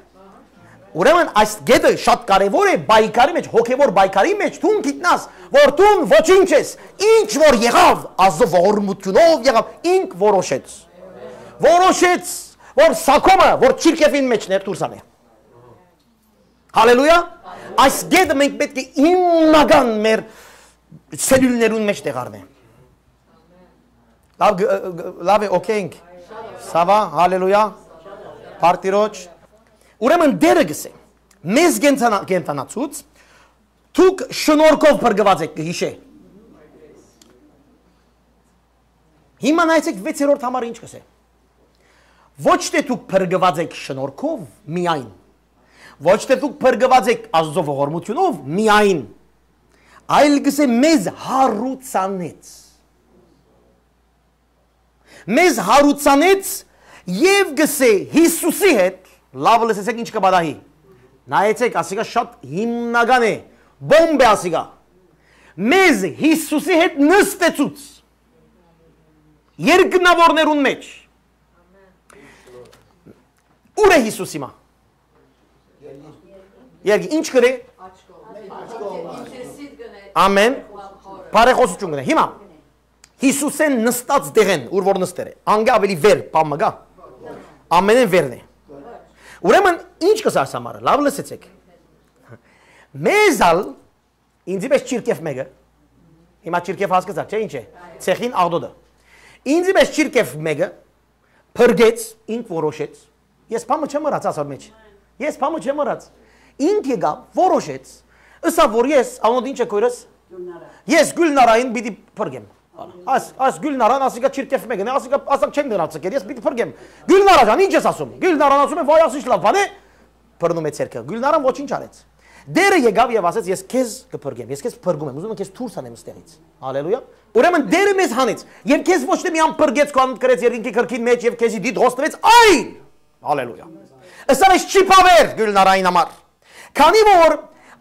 Ուրեմն այս գետը շատ կարեւոր է պայքարի մեջ, հոգեվոր պայքարի մեջ, դուն գիտնաս, որ դուն ոչինչ ես, ինչ որ եղաւ, Աստուծոյ ողորմութիւնով եղաւ, ինք որոշեց։ Որոշեց, որ սակոմը, որ չիրքեւին մեջն էր, դուրս անէ։ Հալելույա։ Այս գետը մենք պէտք է հիմնական մեր սելիւլներուն մէջ տեղառնենք։ Լաւ, գ-, գ-, լաւ է, օքեյ ենք։ Սավա, հալելույա։ Փառք Տիրոջ։ Ուրեմն Տէրը գսէ, մեզ կենդանա-, կենդանացուց, դուք շնորհքով փրկուած եք, կը յիշէ։ Հիմա նայեցեք վեցերորդ համարը ինչ կսէ։ Ոչ թէ դուք փրկուած եք շնորհքով միայն, ոչ թէ դուք փրկուած եք Աստուծոյ ողորմութիւնով միայն, այլ կսէ մեզ հարուցանեց։ Մեզ հարուցանեց եւ կսէ Յիսուսի հետ, լաւ լսեցեք ինչ կը պատահի։ Նայեցեք, ասիկա շատ հիմնական է, բոմբ է ասիկա։ Մեզ Յիսուսի հետ նստեցուց երկնաւորներուն մէջ։ Ո՞ւր է Յիսուս հիմա։ Երկի, ինչ կրե։ Ամեն։ Բարեխոսություն կնե։ Հիմա Յիսուսէն նստած դեղեն, ուր որ նստեր է, անգե ավելի վեր, պամը գա։ Ամենէն վերն է։ Ուրեմն, ինչ կսա այս համարը, լաւ լսեցեք։ Մեզ ալ, ինձի պես չիրքեվ մեկը, հիմա չիրքեվ հասկացաք, չէ՞, ինչ է, ցեխին աղդոդը։ Ինձի պես չիրքեվ մեկը փրկեց, ինք որոշեց։ Ես պամը չեմ ըրած ասոր մեջ։ Ես պամը չեմ ըրած։ Ինք եկա, որոշեց, ըսա, որ ես, անոնդ ինչ է քոյրս, ես Գուլնարային պիտի փրկեմ։ Աս, աս Գուլնարան, ասիկա չիրքեվ մեկն է, ասիկա, ասակ չեն դրած կեր, ես պիտի փրկեմ։ Գուլնարա ջան, ինչ ես ասում։ Գուլնարան ասում է, վայ, ասիչ լավ բան է, բռնում է ցերկը։ Գուլնարան ոչինչ արեց։ Տերը եկաւ եւ ասեց, «Ես քեզ կփրկեմ, ես քեզ փրկում եմ, ուզում եմ քեզ դուրս անեմ ստեղից»։ Հալելույա։ Ուրեմն Տերը մեզ հանեց, եւ քեզ ոչ թե միան փրկեց, քո անունդ գրեց երկնքի գրքին մեջ եւ քեզի դիտողս տվեց, այլ, հալելույա, ըսավ ես չի բավեր Գուլնարային համար, քանի որ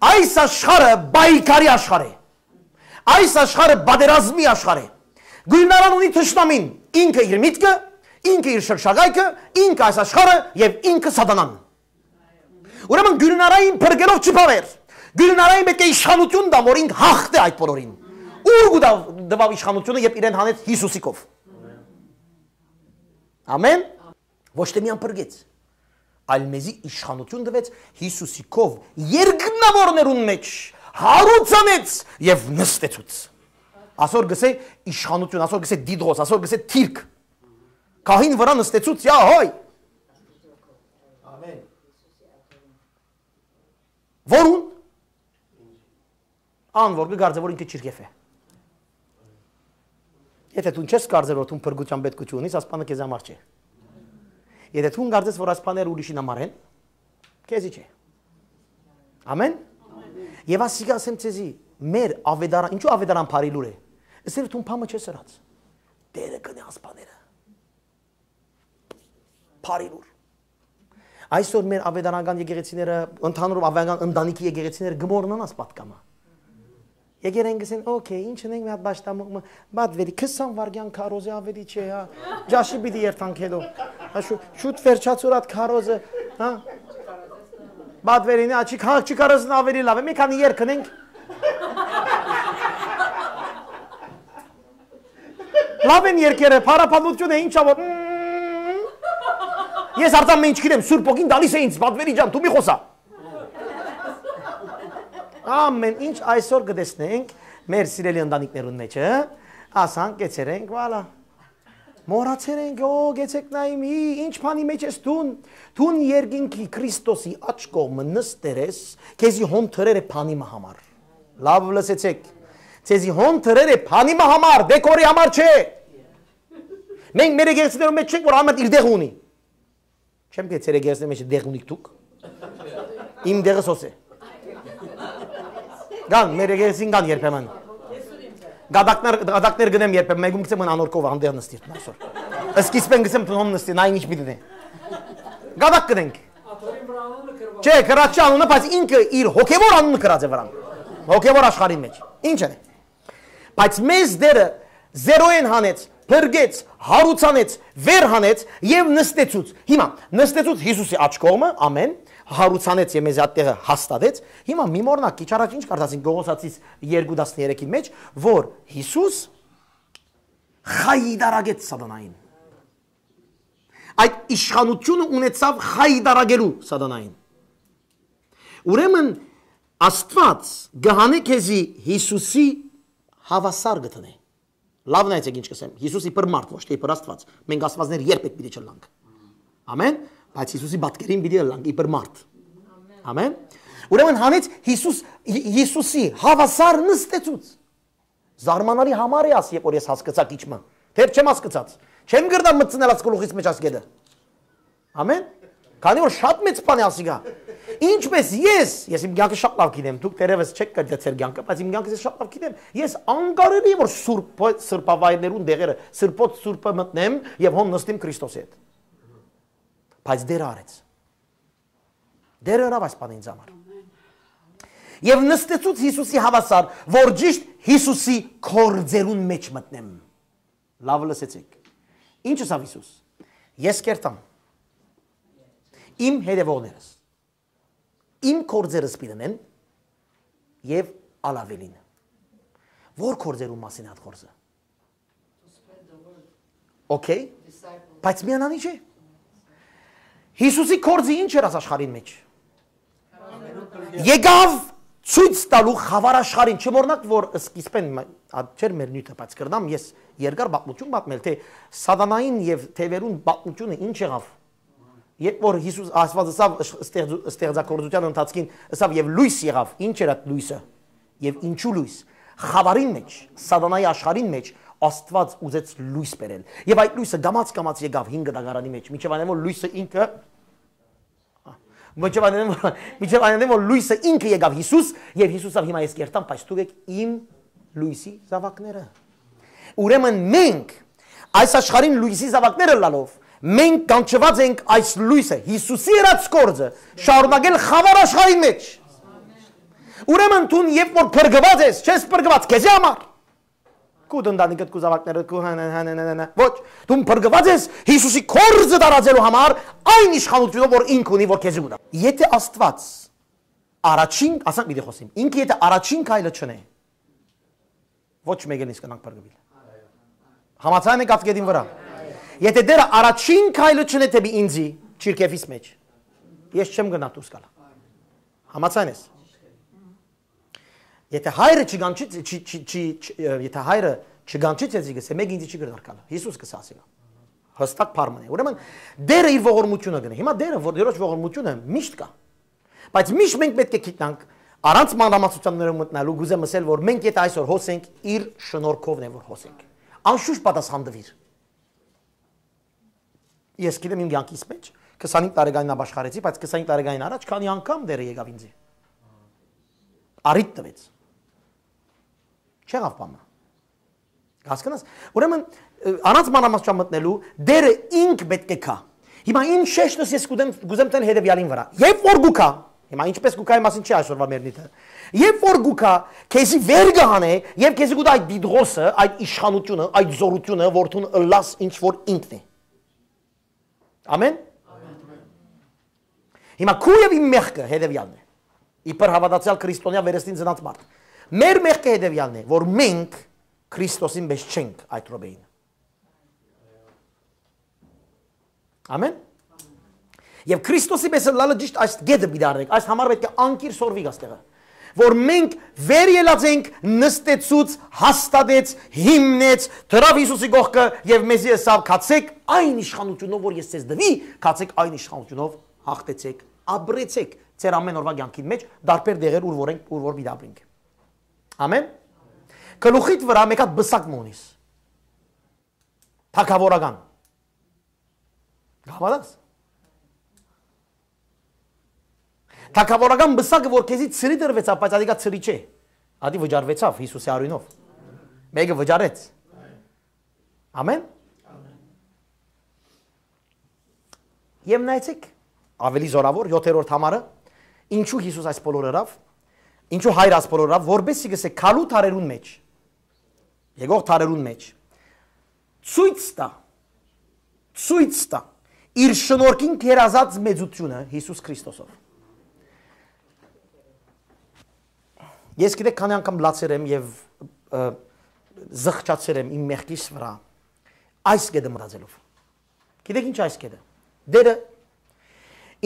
այս աշխարհը պայքարի աշխարհ է, այս աշխարհը պատերազմի աշխարհ է։ Գուլնարան ունի թշնամին, ինքը իր միտքը, ինքը իր շրջակայքը, ինքը այս աշխարհը եւ ինքը սատանան։ Ուրեմն Գուլնարային փրկելով չփավ էր։ Գուլնարային պետք է իշխանություն տա, որ ինք հաղթէ այդ բոլորին։ Ո՞ւր կու տա-, տվաւ իշխանությունը, երբ իրեն հանեց Յիսուսի քով։ Ամեն։ Ոչ թե միան փրկեց, այլ մեզի իշխանություն տվեց Յիսուսի քով երկնաւորներուն մեջ, հարուցանեց եւ նստեցուց։ Ասոր գսե իշխանություն, ասոր գսե դիդրոս, ասոր գսե թիրք։ Քահին վրայ նստեցուց, յա, հայ։ Ամեն։ Որուն։ Ան որ կը կարծէ, որ ինքը չիրքեֆ է։ Եթե դուն չես կարծեր, որ դուն փրկության պետք չունիս, ասպանը քեզ համար չէ։ Եթե դուն կարծես, որ ասպաները ուրիշին համար են, քեզի չէ։ Ամեն։ Եվ ասիկա ասեմ ձեզի, մեր ավետարան, ինչու ավետարան բարի լուր է։ Ասել դուն փամը չես ըրած։ Տերը կնե ասպաները։ Բարի լուր։ Այսօր մեր ավետարանական եկեղեցիները, ընդհանուր ավետարանական ընտանիքի եկեղեցիները կմոռնան աս պատկամը։ Եկեր են գսեն, օքեյ, ինչ ունենք մի հատ պաշտամունք մը, բադվերի, քսան վարգյան քարոզը ավելի չէ, հա, ջաշի պիտի երթանք հետո, հա, շու-, շուտ վերջացուր այդ քարոզը, հա, բադվերին, հա, չի քաղաք չի քարոզն ավելի լավ է, մի քանի երգ ունենք, լավ են երկերը, փառապանություն է, ինչա որ, Ես արձան մեն ինչ գիտեմ, Սուրբ Հոգին տալիս է ինձ, պատվերի ջան, դու մի խոսա։ Ամեն ինչ այսօր կը տեսնենք մեր սիրելի ընտանիքներուն մեջ, հը։ Ասանք, կեցեր ենք, վալա։ Մոռացեր ենք, օ, գեցեք նայ մի, ինչ բանի մեջ ես դուն։ Դուն երկինքի Քրիստոսի աջ կողմը նստեր ես, քեզի հոն թրեր է բանի մը համար։ Լավ լսեցեք։ Քեզի հոն թրեր է բանի մը համար, դեկորի համար չէ։ Մենք մեր եկեղեցիներուն մեջ չենք, որ ամեն իր դեղ ունի։ Չեմ կեցեր եկեղեցիներուն մեջ դեղ ունիք դուք։ Իմ դեղս հոս է։ Կան, մեր եկեղեցին կան երբեմն։ Գադակներ, գադակներ գնեմ երբեմն, մեկում գցեմ, մն անոր կովը, հանդեղ նստիր, այսօր։ Սկիզբեն գցեմ, հոն նստի, նայ ինչ պիտի դե։ Գադակ գնենք։ Չէ, կրաչի անունը, բայց ինքը իր հոգևոր անունը կրած է վրան։ Հոգևոր աշխարհին մեջ։ Ինչ է։ Բայց մեզ Տերը զերոյեն հանեց, փրկեց, հարուցանեց, վեր հանեց եւ նստեցուց։ Հիմա նստեցուց Յիսուսի աջ կողմը, ամեն, հարուցանեց եւ մեզ այդտեղը հաստատեց։ Հիմա մի մոռնաք, քիչ առաջ ինչ կարդացին Կողոսացիս երկու տասներեքին մեջ, որ Յիսուս խայտարագեց սատանային։ Այդ իշխանությունը ունեցավ խայտարագելու սատանային։ Ուրեմն Աստուած կը հանէ քեզի Յիսուսի հաւասար կը դնէ։ Լաւ նայեցեք ինչ կ'ըսեմ։ Յիսուս իբր մարդ, ոչ թե իբր Աստուած։ Մենք Աստուածներ երբեք պիտի չըլլանք։ Ամեն։ Բայց Յիսուսի պատկերին պիտի ըլլանք իբր մարդ։ Ամեն։ Ուրեմն հանեց Յիսուս, Յ-, Յիսուսի հաւասար նստեցուց։ Զարմանալի համար է ասի, երբ որ ես հասկացայ քիչ մը։ Դեռ չեմ հասկացած։ Չեմ կրնար մտցնել աս գլուխիս մեջ աս գետը։ Ամեն։ Քանի որ շատ մեծ բան է ասիկա։ Ինչպես ես, ես իմ կյանքը շատ լավ գիտեմ, դուք դեռևս չեք կրկնեցեր կյանքը, բայց իմ կյանքը ես շատ լավ գիտեմ։ Ես անկարելի եմ, որ սուրբ, սրբավայրներուն դեղերը, սրբոց սուրբը մտնեմ եւ հոն նստիմ Քրիստոսի հետ։ Բայց Տերը արեց։ Տերը ըրաւ այս բանը ինձ համար։ Եւ նստեցուց Յիսուսի հաւասար, որ ճիշդ Յիսուսի կորձերուն մեջ մտնեմ։ Լաւ լսեցեք։ Ինչ ըսաւ Յիսուս։ Ես կերտամ իմ հետևողներս, իմ կորձերս պիտի նեն եւ ալ աւելին։ Որ կորձերուն մասին է այդ կորձը։ Okay, բայց միանանի չէ։ Յիսուսի կորձը ինչ էր աս աշխարհին մեջ։ Եկաւ ցոյց տալու խաւար աշխարհին, չմոռնաք, որ սկիզբեն մը-, ա, չէր մեր նիւթը, բայց կրնամ ես երկար պատմություն պատմել, թե սատանային եւ թեւերուն պատմությունը ինչ եղաւ։ Երբ որ Յիսուս Աստուած ըսաւ, ըշ-, ստեղծու-, ստեղծագործության ընթացքին ըսաւ, "Եւ լոյս եղաւ", ինչ էր այդ լոյսը։ Եւ ինչու լոյս։ Խաւարին մեջ, սատանայի աշխարհին մեջ Աստուած ուզեց լոյս բերել։ Եւ այդ լոյսը կամաց-կամաց եկաւ հինգ դագարանի մեջ, մինչեւ այն որ լոյսը ինքը, մինչեւ այն որ, մինչեւ այն որ լոյսը ինքը եկաւ Յիսուս, եւ Յիսուսը ըսաւ, "Հիմա ես կերտամ, բայց դուք եք իմ լոյսի զաւակները"։ Ուրեմն մենք այս աշխարհին լոյսի զաւակները ըլլալով, մենք կանչուած ենք այս լոյսը, Յիսուսի ըրած կորձը, շարունակել խաւար աշխարհին մեջ։ Ուրեմն դուն երբ որ փրկված ես, չես փրկված քեզի համար։ Քու ընտանիքդ, քու զաւակներդ, քու հա-, հա-, հա-, հա-, հա-, հա-, ոչ, դուն փրկված ես Յիսուսի կորձը տարածելու համար, այն իշխանությունը որ ինք ունի, որ քեզի կուտա։ Եթե Աստուած առաջին, ասանք պիտի խոսիմ, ինքը եթե առաջին քայլը չնէ, ոչ մեկը ինձ կնանք փրկուիլ։ Համաձայն եք աս գետին վրա։ Եթե Տերը առաջին քայլը չնէ դեպի ինձի, չիրքեֆիս մեջ, ես չեմ գնա դուրս գալ։ Համաձայն ես։ Եթե հայրը չգանչի, չի, չի, չի, չի, ը, եթե հայրը չգանչի ցեզի, կսե, "Մեկ ինձի չի կրնար գալ"։ Յիսուս կսա ասի։ Հստակ բառ մնա։ Ուրեմն Տերը իր ողորմությունը գնե։ Հիմա Տերը, որ Տերոջ ողորմությունը միշտ կա։ Բայց միշտ մենք պետք է գիտնանք, առանց մանրամասնություններով մտնալու, կուզեմ ասել, որ մենք եթե այսօր հոս ենք, իր շնորհքովն է, որ հոս ենք։ Անշուշտ պատասխան տվիր։ Ես գիտեմ իմ կյանքիս մեջ, քսանհինգ տարեկանին ապաշխարեցի, բայց քսանհինգ տարեկանին առաջ քանի անգամ Տերը եկաւ ինձի։ Առիթ տվեց։ Չեղավ բանը։ Հասկանաս։ Ուրեմն, ը, առանց մանրամասնության մտնելու, Տերը ինք պետք է գա։ Հիմա իմ շեշտս ես կուզեմ, կուզեմ տեն հետեւյալին վրա։ Երբ որ գուքա, հիմա ինչպես գուքայի մասին չի այսօրվա մեր նիթը, երբ որ գուքա, քեզի վեր կհանե, եւ քեզի կուտա այդ դիդղոսը, այդ իշխանությունը, այդ զորությունը, որ դուն ըլլաս ինչ որ ինքն է։ Ամեն։ Հիմա քու եւ իմ մեղքը հետեւյալն է։ Իբր հավատացյալ քրիստոնեայ վերստին ծնած մարդ։ Մեր մեղքը հետեւյալն է, որ մենք Քրիստոսին պես չենք այդ րոպեին։ Ամեն։ Եւ Քրիստոսի պէս ըլլալը ճիշդ այս կետը պիտի առնենք։ Այս համար պէտք է անկիր սորվի գաստեղը, որ մենք վեր ելած ենք, նստեցուց, հաստատեց, հիմնեց, դրաւ Յիսուսի կողքը եւ մեզի ըսաւ. «Գացեք այն իշխանութիւնով, որ ես ձեզ տուի, գացեք այն իշխանութիւնով, հաղթեցեք, ապրեցեք ձեր ամեն օրվա կեանքին մէջ, դարբեր դեղեր, ուր որ ենք, ուր որ պիտի ապրենք»։ Ամեն։ Գլուխիդ վրայ մէկ հատ բսակ մը ունիս, թագաւորական։ Կհաւատաս։ Թագաւորական բսակը, որ քեզի ցրի տրուեցաւ, բայց ատիկա ցրի չէ։ Ատի վճարուեցաւ Յիսուսի արիւնով։ Մէկը վճարեց։ Ամեն։ Եւ նայեցեք, ավելի զորաւոր, յոթերորդ համարը, ինչու Յիսուս այս բոլորը ըրաւ, ինչու Հայր այս բոլորը ըրաւ, որպեսզի գսե գալու դարերուն մէջ, եկող դարերուն մէջ, ցոյց տայ, ցոյց տայ իր շնորհքին գերազած մեծութիւնը Յիսուս Քրիստոսով։ Ես գիտեք քանի՞ անգամ լացեր եմ եւ, ը, զղջացեր եմ իմ մեղքիս վրայ այս կետը մտածելով։ Գիտեք ինչ այս կետը։ Տերը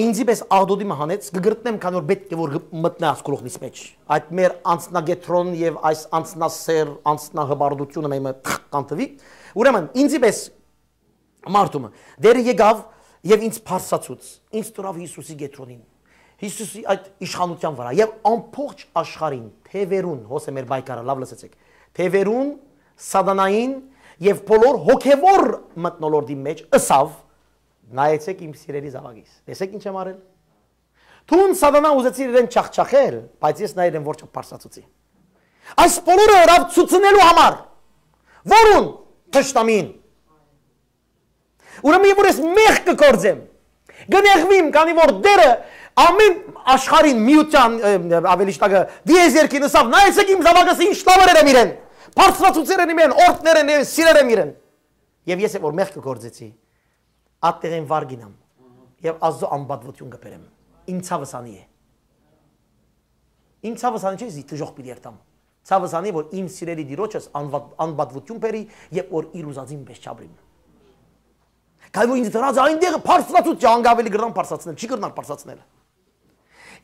ինձի պէս աղտոտի մը հանեց, կը կրտնեմ, քանի որ պէտք է որ գ-, մտնայ այս գլուխնիս մէջ։ Այդ մեր անձնակեդրոն եւ այս անձնասեր, անձնահպարտությունը մեմը թ-, կանտվի։ Ուրեմն, ինձի պէս մարդումը, Տերը եկաւ եւ ինձ բարձրացուց, ինձ դրաւ Յիսուսի կեդրոնին, Յիսուսի այդ իշխանութեան վրայ եւ ամբողջ աշխարհին, թեւերուն, հոս է մեր պայքարը, լաւ լսեցեք, թեւերուն, սատանային եւ բոլոր հոգեվոր մթնոլորտի մէջ ըսաւ. «Նայեցեք իմ սիրելի զաւակիս, տեսեք ինչ եմ արել»։ Դուն սատանա ուզեցիր իրեն չախչախել, բայց ես նայել եմ որ չափ բարձրացուցի։ Այս բոլորը ըրաւ ցուցնելու համար, որուն թշնամին։ Ուրեմն, երբ որ ես մեղք կը գործեմ, կը նեղվիմ, քանի որ Տերը ամեն աշխարհին միության, ը, ավելի շտակը, դիեզերքին ըսաւ. «Նայեցեք իմ զաւակս ինչ լաւեր եմ իրեն, բարձրացուցեր են իրեն, օրհներ են իրեն, սիրեր եմ իրեն»։ Եւ ես որ մեղք կը գործեցի, ատտեղէն վար գինամ եւ Աստծո անպատվութիւն կը բերեմ։ Իմ ցաւս անի է։ Իմ ցաւս անի չէ, զի դժոխք պիտի երթամ։ Ցաւս անի, որ իմ սիրելի Տիրոջս անվատ-, անպատվութիւն բերի եւ որ իր ուզածին պես չապրիմ։ Քանի որ ինձ դրած է այնտեղը բարձրացուցիչ, անգամ ավելի կրնան բարձրացնել, չի կրնար բարձրացնել։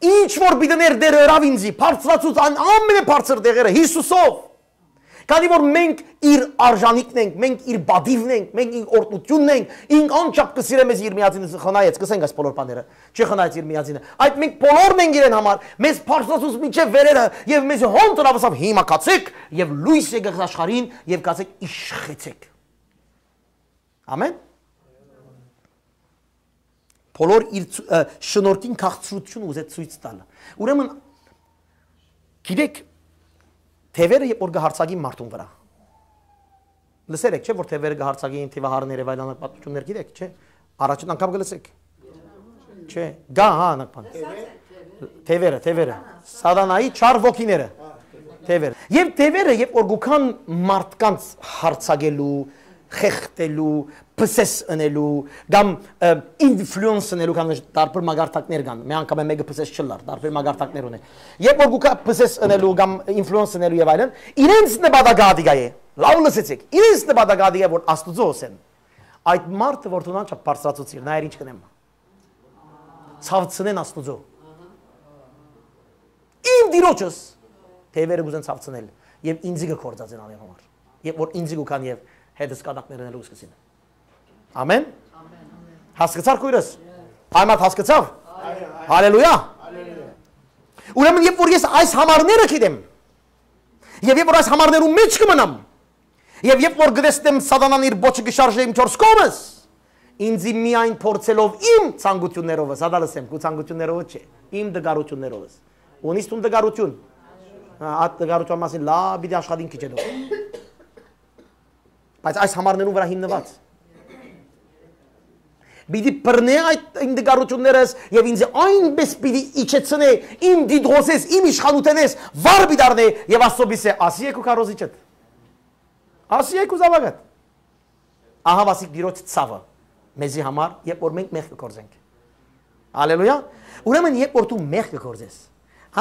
Ինչ որ պիտի ներ Տերը ըրաւ ինձի, բարձրացուց այն ամենաբարձր տեղերը Յիսուսով։ Քանի որ մենք իր արժանիքն ենք, մենք իր պատիվն ենք, մենք իր օրհնությունն ենք, ինք անչափ կը սիրե մեզ իր միածինը խնայեց, կսենք այս բոլոր բաները, չի խնայեց իր միածինը։ Այդ մենք բոլորն ենք իրեն համար, մեզ բարձրացուց մինչև վերերը եւ մեզ հոն տրավ ասավ. «Հիմա գացեք եւ լույս եկեք աշխարհին եւ գացեք իշխեցեք»։ Ամեն։ Բոլոր իր ցու-, ը, շնորհքին քաղցրությունը ուզեց ցույց տալ։ Ուրեմն, գիտեք, թևերը երբ որ կը հարձակին մարդուն վրա, լսեր եք, չէ՞, որ թևերը կը հարձակին, թիվահարները, վայլանակ պատմություններ գիտեք, չէ՞։ Առաջին անգամ կը լսեք։ Չէ, գա, հա, անակ բան։ Թևերը, թևերը։ Սատանայի չար ոգիները։ Թևերը։ Եւ թևերը, երբ որ գուքան մարդկանց հարձակելու, խեղդելու, պսես ընելու, կամ, ը, ինֆլուենս ընելու, կամ տարբեր մագարտակներ կան։ Մի անգամ մեկը պսես չլար, տարբեր մագարտակներ ունի։ Երբ որ գուքա պսես ընելու կամ ինֆլուենս ընելու եւ այլն, իրենց նպատակը ադիգա է։ Լավ լսեցեք, իրենց նպատակը ադիգա է, որ Աստուծո ուսեն։ Այդ մարդը, որ դու անչափ բարձրացուցիր, նայեր ինչ կնեմ։ Ցավցնեն Աստուծո։ Իմ Տիրոջս թևերը կուզեն ցավցնել եւ ինձի կը կործածեն անոր համար։ Երբ որ ինձի կուքան եւ հետս կատակներ ընելու սկսին։ Ամեն։ Հասկացար քույրս։ Այն մարդ հասկացավ։ Հալելույա։ Ուրեմն երբ որ ես այս համարները գիտեմ, եւ երբ որ այս համարներու մեջ կմնամ, եւ երբ որ կտեսնեմ սատանան իր պոչը կշարժե իմ չորս կողմս, ինձի միայն փորձելով իմ ցանկություններովս, հատա լսեմ, քու ցանկություններովս չէ, իմ դգարություններովս։ Ունիս դուն դգարություն։ Հա, այդ դգարության մասին լավ պիտի աշխատին քիչ հետո։ Բայց այս համարներուն վրա հիմնված։ Պիտի բռնե այդ իմ դգարություններս եւ ինձ այնպես պիտի իջեցնե, իմ դիտողսես, իմ իշխանութենես վար պիտի առնե եւ Աստծո պիսե, ասի եք ու քարոզիչդ։ Ասի եք ու զավակդ։ Ահա վասիկ Տիրոջ ցավը մեզի համար, երբ որ մենք մեղք կգործենք։ Ալելույա։ Ուրեմն, երբ որ դու մեղք կգործես,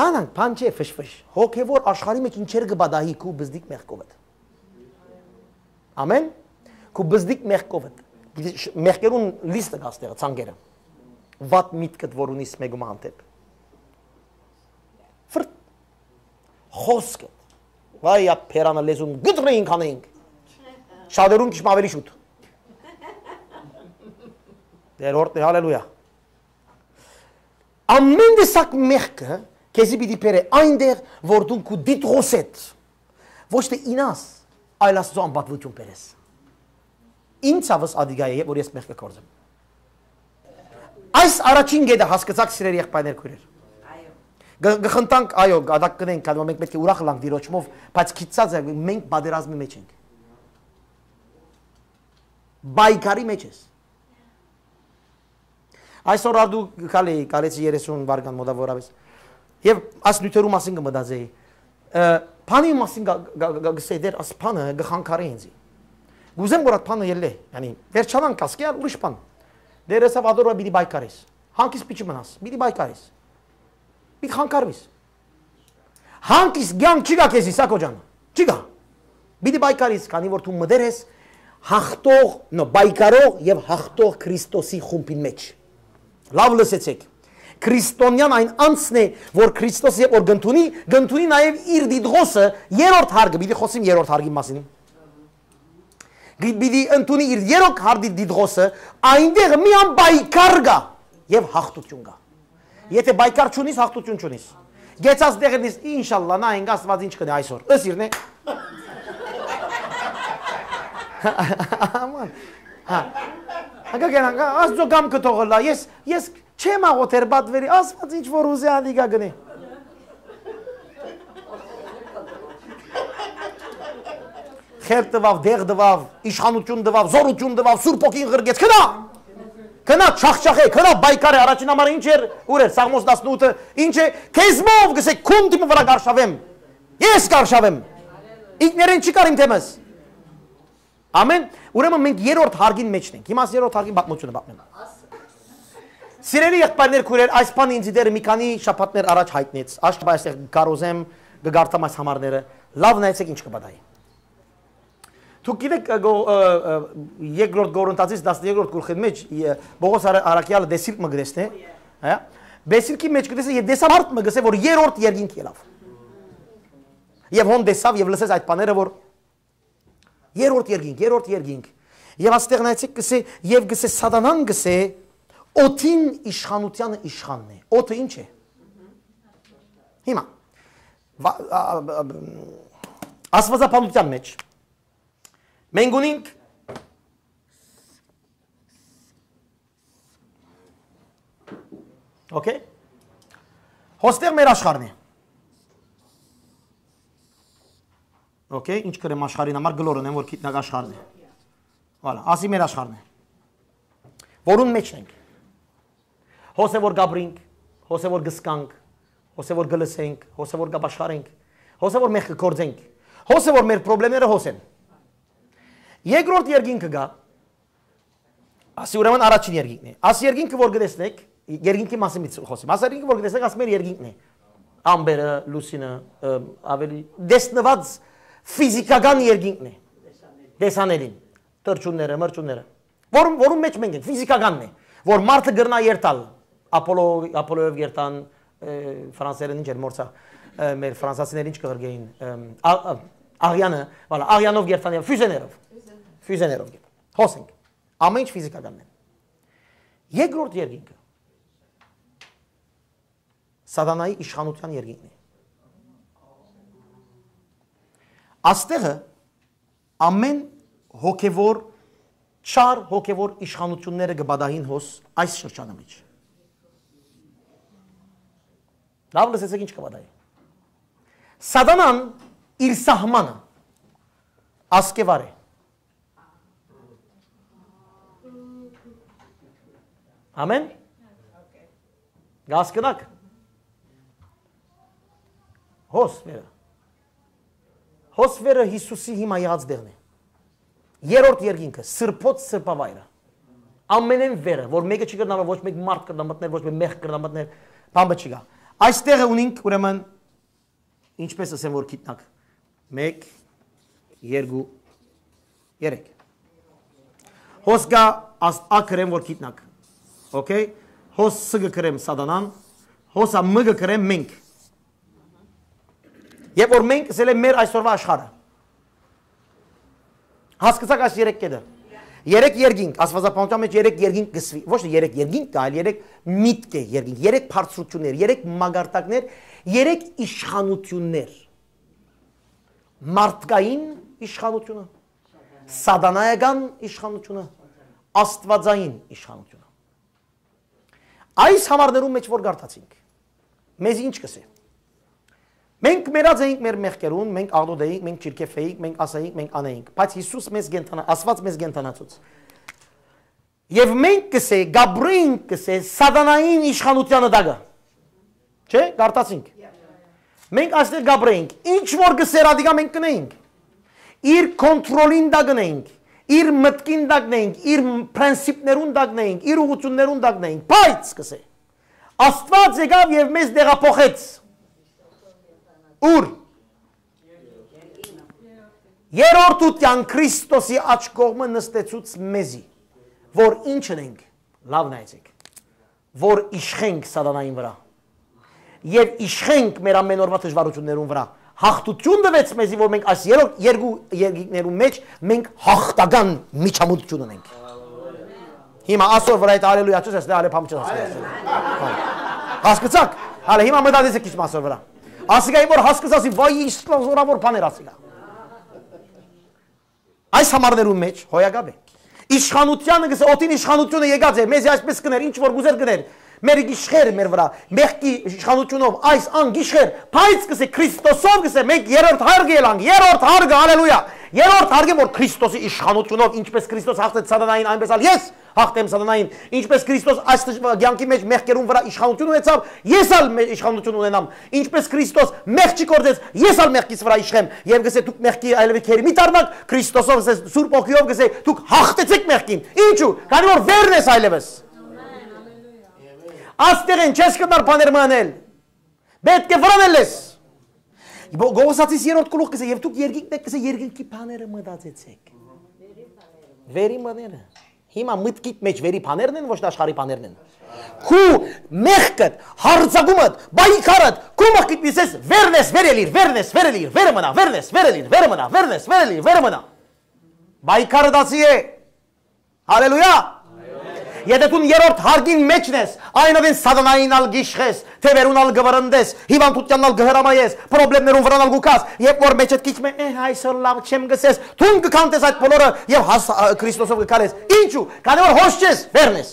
անանք բան չէ, ֆշֆշ, հոգեվոր աշխարհի մեջ ինչեր կպատահի քու բզդիկ մեղքովդ։ Ամեն։ Քու բզդիկ մեղքովդ։ Պիտի շ-, մեղքերուն լիստը կա ստեղը, ցանկերը։ Վատ միտքդ որ ունիս մեկու մը հանդէպ։ Ֆրտ։ Խոսքդ։ Վայ, ա բերանը լեզուն գտրեինք անենք։ Շատերուն քիչ մը ավելի շուտ։ Դեր օրհնի, հալելույա։ Ամեն տեսակ մեղքը քեզի պիտի բերէ այնտեղ, որ դուն քու դիտողսեդ, ոչ թե ինաս, այլ Աստծո անպատվութիւն բերես։ Ինձ ցաւս ադիգա է, որ ես մեղքը գործեմ։ Այս առաջին գետը հասկացաք, սիրելի եղբայրներ, քոյրեր։ Գ-, գխնդանք, այո, գադակ կնենք, քանի որ մենք պետք է ուրախ ըլանք դիրոջմով, բայց գիտցած եք, մենք պատերազմի մեջ ենք։ Պայքարի մեջ ես։ Այսօր արդու քալի, քալեցի երեսուն վարկան մոտավորապես։ Եւ այս նիւթերու մասին կը մտածեի։ Ը, բանի մասին գ-, գ-, գ-, գսեի դեր, աս բանը գ-, խանգարի ինձի։ Կուզեմ որ այդ բանը ելլէ, յանի, վերջանանք ասկի ալ ուրիշ բան։ Դեր եսավ ադոր պիտի պայքարես։ Հանկիս պիչի մնաս, պիտի պայքարես։ Պիտի խանգարվիս։ Հանկիս կեանք չի գա քեզի, Սակո ջան։ Չի գա։ Պիտի պայքարես, քանի որ դու մտեր ես հաղթող, նո, պայքարող եւ հաղթող Քրիստոսի խումբին մեջ։ Լաւ լսեցեք։ Քրիստոնեան այն անձն է, որ Քրիստոս երբ որ կ'ընդունի, կ'ընդունի նաեւ իր դիտողսը, երրորդ հարգը, պիտի խոսիմ երրորդ հարգի մասին։ Գի-, պիտի ընդունի իր երրորդ հարգի դիտողսը, այնտեղ միան պայքար կա եւ հաղթութիւն կա։ Եթե պայքար չունիս, հաղթութիւն չունիս։ Գեցած տեղերնից, ինշալլա, նայենք Աստուած ինչ կ'ընէ այսօր։ Ըսիրն է։ Աման։ Հա։ Հակա կենանք, հա, Աստծո կամքը թողը լա։ Ես, ես չեմ աղոթեր պատվերի, Աստուած ինչ որ ուզէ, ալիգա գնե։ Խելք տուաւ, դեղ տուաւ, իշխանութիւն տուաւ, զօրութիւն տուաւ, Սուրբ Հոգին ղրկեց։ Գնա! Գնա, չախչախէ, գնա, պայքարէ, առաջին համար ինչ էր, ուր էր, Սաղմոս տասնութը, ինչ է, քեզմով, գսե, քուն դիմը վրայ կ'արշաւեմ։ Ես կ'արշաւեմ։ Ինքներէն չի կարիմ թեմս։ Ամեն, ուրեմն մենք երրորդ հարգին մեջն ենք։ Հիմա աս երրորդ հարգին պատմությունը պատմեմ։ Սիրելի եղբայրներ, քուրեր, այս բանը ինձ դեռ մի քանի շաբաթներ առաջ յայտնեց։ Աշտապա այստեղ կարոզեմ, կը կարդամ այս համարները։ Լաւ նայեցեք ինչ կը պատահի։ Դուք գիտեք, ը, գո-, ը, ը, երկրորդ Կորինթացիս տասներկրորդ գլխին մեջ, ը, Պողոս Արա-, Արաքեալը դեսիլք մը կտեսնէ, հա? Դեսիլքի մեջ կտեսնէ, եւ տեսա մարդ մը գսե, որ երրորդ երկինք ելաւ։ Եւ հոն տեսաւ եւ լսեց այդ բաները, որ երրորդ երկինք, երրորդ երկինք։ Եւ աստեղ նայեցեք, գսե, եւ գսե, Սատանան գսե, օդին իշխանութեանը իշխանն է։ Օդը ինչ է։ Հիմա, վա-, ա, ա, ա, Աստվածաբանության մեջ մենք ունենք, օքեյ, հոստեղ մեր աշխարհն է։ Օքեյ, ինչ կրեմ աշխարհին համար, գլոր ունեմ, որ գիտնակ աշխարհն է։ Վալա, ասի մեր աշխարհն է, որուն մեջ ենք։ Հոսե որ գաբրինք, հոսե որ գսկանք, հոսե որ գլսենք, հոսե որ գաբաշխարենք, հոսե որ մեղքը գործենք, հոսե որ մեր պրոբլեմները հոսեն։ Երկրորդ երկինքը գա, ասի ուրեմն առաջին երկինքն է։ Աս երկինքը որ գտեսնեք, երկինքի մասին մի խոսեմ, աս երկինքը որ գտեսնեք, աս մեր երկինքն է։ Ամպերը, լուսինը, ը, ավելի տեսնված ֆիզիկական երկինքն է, տեսանելին, թռչունները, մրճունները, որում, որում մեջ մենք ենք, ֆիզիկականն է, որ մարդը կրնա երթալ, Ապոլո, Ապոլոյով երթան, ը, ֆրանսերեն ինչ էր, մորցա, ը, մեր ֆրանսացիները ինչ կղրկեին, ը, ա-, ա-, աղյանը, վալա, աղյանով երթան, ֆյուզեներով, ֆյուզեներով երթան, հոս ենք, ամեն ինչ ֆիզիկականն է։ Երկրորդ երկինքը Սատանայի իշխանության երկինքն է։ Աստեղը ամեն հոգևոր, չար հոգևոր իշխանությունները կը պատահին հոս այս շրջանը մեջ։ Լավ լսեցեք ինչ կը պատահի։ Սատանան իր սահմանը ասկեվար է։ Ամեն։ Գասկնակ։ Հոս վերը։ Հոս վերը Հիսուսի հիմա եղած դեղն է։ Երրորդ երկինքը, սրբոց սրբավայրը։ Ամենեն վերը, որ մեկը չի կրնա, ոչ մեկ մարդ կրնա մտնել, ոչ մեկ մեղ կրնա մտնել, բամբը չի գա։ Այս տեղը ունինք, ուրեմն, ինչպես ասեմ, որ գիտնակ։ Մեկ, երկու, երեք։ Հոս գա աս-, ակրեմ, որ գիտնակ։ Օքեյ։ Հոս ս կը կրեմ Սատանան, հոս ա մ կը կրեմ մենք։ Երբ որ մենք, ըսել է, մեր այսօրվա աշխարհը։ Հասկացաք այս երեք կետը։ Երեք երկինք, Աստուածապահութեան մէջ երեք երկինք կսուի։ Ոչ թե երեք երկինք կայ, այլ երեք միտք է երկինք, երեք բարձրություններ, երեք մակարդակներ, երեք իշխանություններ։ Մարդկային իշխանությունը, սատանայական իշխանությունը, աստվածային իշխանությունը։ Այս համարներուն մէջ որ կարդացինք, մեզ ինչ կսէ։ Մենք մեռած էինք մեր մեղքերուն, մենք աղտոտ էինք, մենք չիրքեֆ էինք, մենք ասայինք, մենք անեինք, բայց Յիսուս մեզ կենդանա-, Աստուած մեզ կենդանացուց։ Եւ մենք կսե, կապրենք կսե, սատանային իշխանութեանը տակը։ Չէ՞, կարդացինք։ Մենք այստեղ կապրենք, ինչ որ կսեր ադիկա մենք կնենք։ Իր կոնտրոլին տակ կնենք, իր մտքին տակ նենք, իր պրինսիպներուն տակ նենք, իր ուղղություններուն տակ նենք, բայց կսե։ Աստուած եկաւ եւ մեզ տեղափոխեց։ Ուր։ Երրորդութեան Քրիստոսի աջ կողմը նստեցուց մեզի, որ ինչ ընենք, լաւ նայեցեք, որ իշխենք սատանային վրայ եւ իշխենք մեր ամեն օրվա դժվարություններուն վրայ։ Հաղթութիւն տուեց մեզի, որ մենք այս երրորդ երկու երկինքներուն մէջ մենք հաղթական միջամտություն ունենք։ Հիմա ասոր վրայ այդ ալելույա չես ասել, ալե փամ չես ասել։ Հասկացաք։ Հալը հիմա մտածեցեք քիչ մասոր վրայ։ Ասիկա որ հասկացասի, վայ, ինչ զորավոր բաներ ասիկա։ Այս համարներուն մէջ հոյակապ է։ Իշխանութեանը գսե, օդին իշխանութիւնը եկած է, մեզի այսպես կներ, ինչ որ գուզեր կներ, մեր գիշխեր մեր վրայ, մեղքի իշխանութիւնով այս ան գիշխեր, բայց գսե Քրիստոսով գսե, մենք երրորդ հարգը ելանք, երրորդ հարգը, հալելույա, երրորդ հարգը, որ Քրիստոսի իշխանութիւնով, ինչպես Քրիստոս հաղթեց սատանային, այնպես ալ ես հաղթեմ սատանային, ինչպես Քրիստոս այս դժվար կյանքի մէջ մեղքերուն վրայ իշխանութիւն ունեցաւ, ես ալ մե-, իշխանութիւն ունենամ, ինչպես Քրիստոս մեղքի գործեց, ես ալ մեղքիս վրայ իշխեմ, եւ գսե դուք մեղքի այլեւս քերի մի դառնաք, Քրիստոսով, գսե Սուրբ Օգիով, գսե դուք հաղթեցեք մեղքին, ինչու, քանի որ վերն ես այլեւս։ Աստեղեն չես կրնար բաներ մը անել, պէտք է վրան ելլես։ Գ-, Գողոսացիս երրորդ գլուխ գսե, եւ դուք երկինքն եք գսե, երկնքի բաները մտածեցեք։ Վերի բաները։ Հիմա մտքիդ մէջ վերի բաներն են, ոչ թե աշխարհի բաներն են։ Քու մեղքդ, հարձակումդ, պայքարդ, քու մտքիդ միսես, վերնես, վերելիր, վերնես, վերելիր, վերը մնա, վերնես, վերելիր, վերը մնա, վերնես, վերելիր, վերը մնա։ Պայքարը դասի է։ Հալելույա։ Եթե դուն երրորդ հարգին մէջն ես, այն ատեն սատանային ալ գիշխես, թևերուն ալ գվրնդես, հիվանդութեանն ալ գհրամայես, պրոբլեմներուն վրան ալ գուքաս, երբ որ մէջդ քիչ մը, «Էհ, այսօր լաւ չեմ», գսես, դուն կքանտես այդ բոլորը եւ հաս-, ա, Քրիստոսով կքարես։ Ինչու՞, քանի որ հոս չես, վերնես։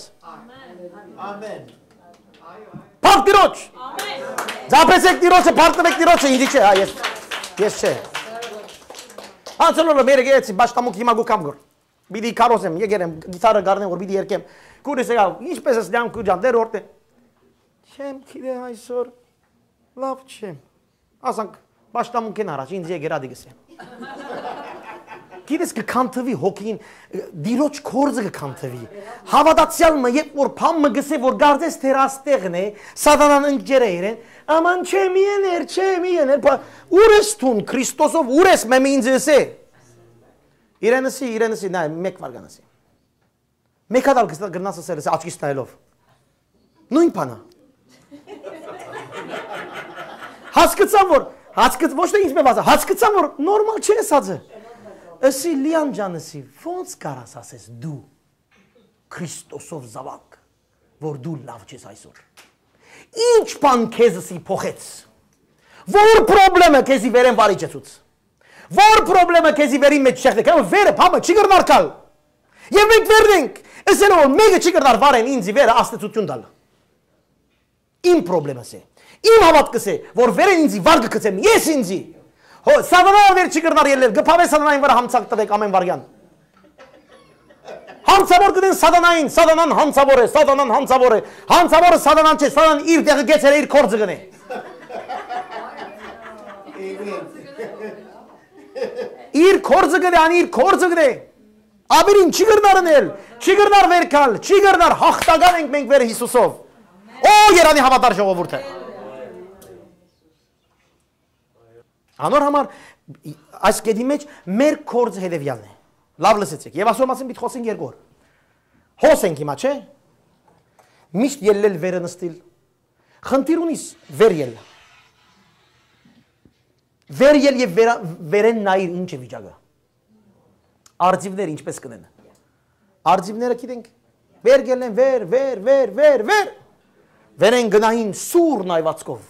Ամեն։ Փառք Տիրոջ։ Զապեցեք Տիրոջը, փառտվեք Տիրոջը, ինձի չէ, հա, ես, ես չէ։ Անցել օրը մեր գեցի, պաշտամունք հիմա գուքամ գոր։ Պիտի քարոզեմ, եկեր եմ, գիտարը գարնեմ, որ պիտի երգեմ։ Քուրս եկավ, ինչպես ես, Լիամ քուջան, դեր օրտե։ Չեմ գիտե այսօր, լավ չեմ։ Ասանք, պաշտամունքեն առաջ, ինձ եկեր ադի գսե։ Գիտես, կքանթվի հոգին, դիրոջ կորձը կքանթվի։ Հավատացյալ մը, երբ որ փամ մը գսե, որ գարձես թեր աստեղն է, սատանան ընկճեր է իրեն, աման չէ, մի եներ, չէ, մի եներ, պա-, ուր ես թուն, Քրիստոսով ուր ես, մեմը ինձ ըսե։ Իրենսի, իրենսի, նա, մեկ վարգան ասի։ Մեկ հատ ալ կս-, կրնաս ասել, ասի, աչքիս նայելով։ Նույն բանա։ Հասկցան, որ, հասկց-, ոչ թե ինձ մե վազա, հասկցան, որ նորմալ չէ սածը։ Ասի, Լիան ջան, ասի, ոնց կարաս ասես դու Քրիստոսով զավակ, որ դու լավ չես այսօր։ Ինչ բան քեզսի փոխեց։ Որ պրոբլեմը քեզի վերեն վարի չեցուց։ Որ պրոբլեմը քեզի վերին մեջ չեղդեք, հա, վերը, փամը չի կրնար կալ։ Եվ մենք վերնենք, ասել որ մեկը չի կրնար վարեն ինձի վերը աստեցություն տալ։ Իմ պրոբլեմս է։ Իմ հավատքս է, որ վերեն ինձի վար կգցեմ, ես ինձի։ Հո, սատանան վեր չի կրնար ելնել, գփավե սատանային վրա համցակ տվեք ամեն վարյան։ Հանցավոր կդեն սատանային, սատանան հանցավոր է, սատանան հանցավոր է։ Հանցավորը սատանան չէ, սատանան իր տեղը գեցել է, իր կորձը գնե։ Իր կորձը գնե, ան իր կորձը գնե։ Աբերին չի կրնար ընել, չի կրնար վեր գալ, չի կրնար, հաղթական ենք մենք վեր Հիսուսով։ Օ, երանի հավատար ժողովուրդը։ Անոր համար այս կետի մեջ մեր կորձը հետևյալն է։ Լավ լսեցեք, եւ ասոր մասին պիտի խոսենք երկու օր։ Հոս ենք հիմա, չէ՞։ Միշտ ելլել վերը նստիլ։ Խնդիր ունիս, վեր ելլա։ Վեր ել եւ վերա-, վերեն նայիր ինչ է վիճակը։ Արծիվները ինչպես կ'ընեն։ Արծիվները գիտենք, վեր գելեն, վեր, վեր, վեր, վեր, վեր։ Վերեն գնային սուր նայվածքով։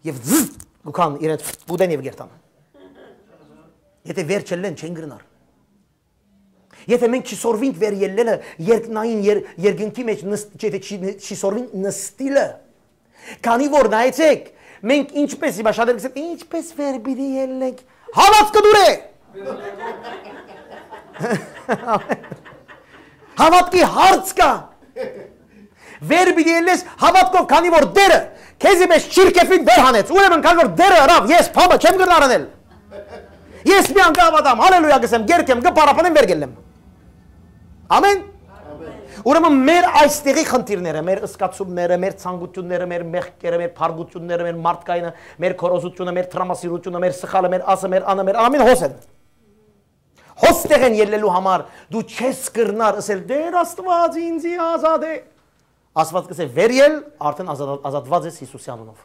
Եւ զզզ գուքան իրենց կուտեն եւ գերտան։ Եթե վեր չելլեն, չեն գրնար։ Եթե մենք չսորվինք վեր ելլելը, երկնային եր-, երկնքի մեջ նս-, չէ, թե չի, չի սորվինք նստիլը, քանի որ նայեցեք, մենք ինչպես, հիմա շատեր կսեն, ինչպես վեր պիտի ելլենք, հավատքը դուր է։ Հավատքի հարց կա։ Վեր պիտի ելլես հավատքով, քանի որ Տերը քեզի մէջ չիրքեֆին վեր հանեց։ Ուրեմն, քանի որ Տերը ըրաւ, ես փամը չեմ կրնար անել։ Ես մի անգամ ատամ, հալելույա կ'ըսեմ, կ'երգեմ, կը փառաբանեմ, վեր կ'ելլեմ։ Ամեն։ Ուրեմն մեր այստեղի խնդիրները, մեր զգացումները, մեր ցանկությունները, մեր մեղքերը, մեր փառքությունները, մեր մարդկայինը, մեր քորոզությունը, մեր տրամասիրությունը, մեր սխալը, մեր ասը, մեր անը, մեր ամեն հոս են։ Հոս տեղեն ելլելու համար դու չես կրնար ըսել, «Տեր Աստուած ինձի ազատ է»։ Աստուած կ'ըսէ, «Վեր ել, արդեն ազատ-, ազատված ես Յիսուսի անունով»։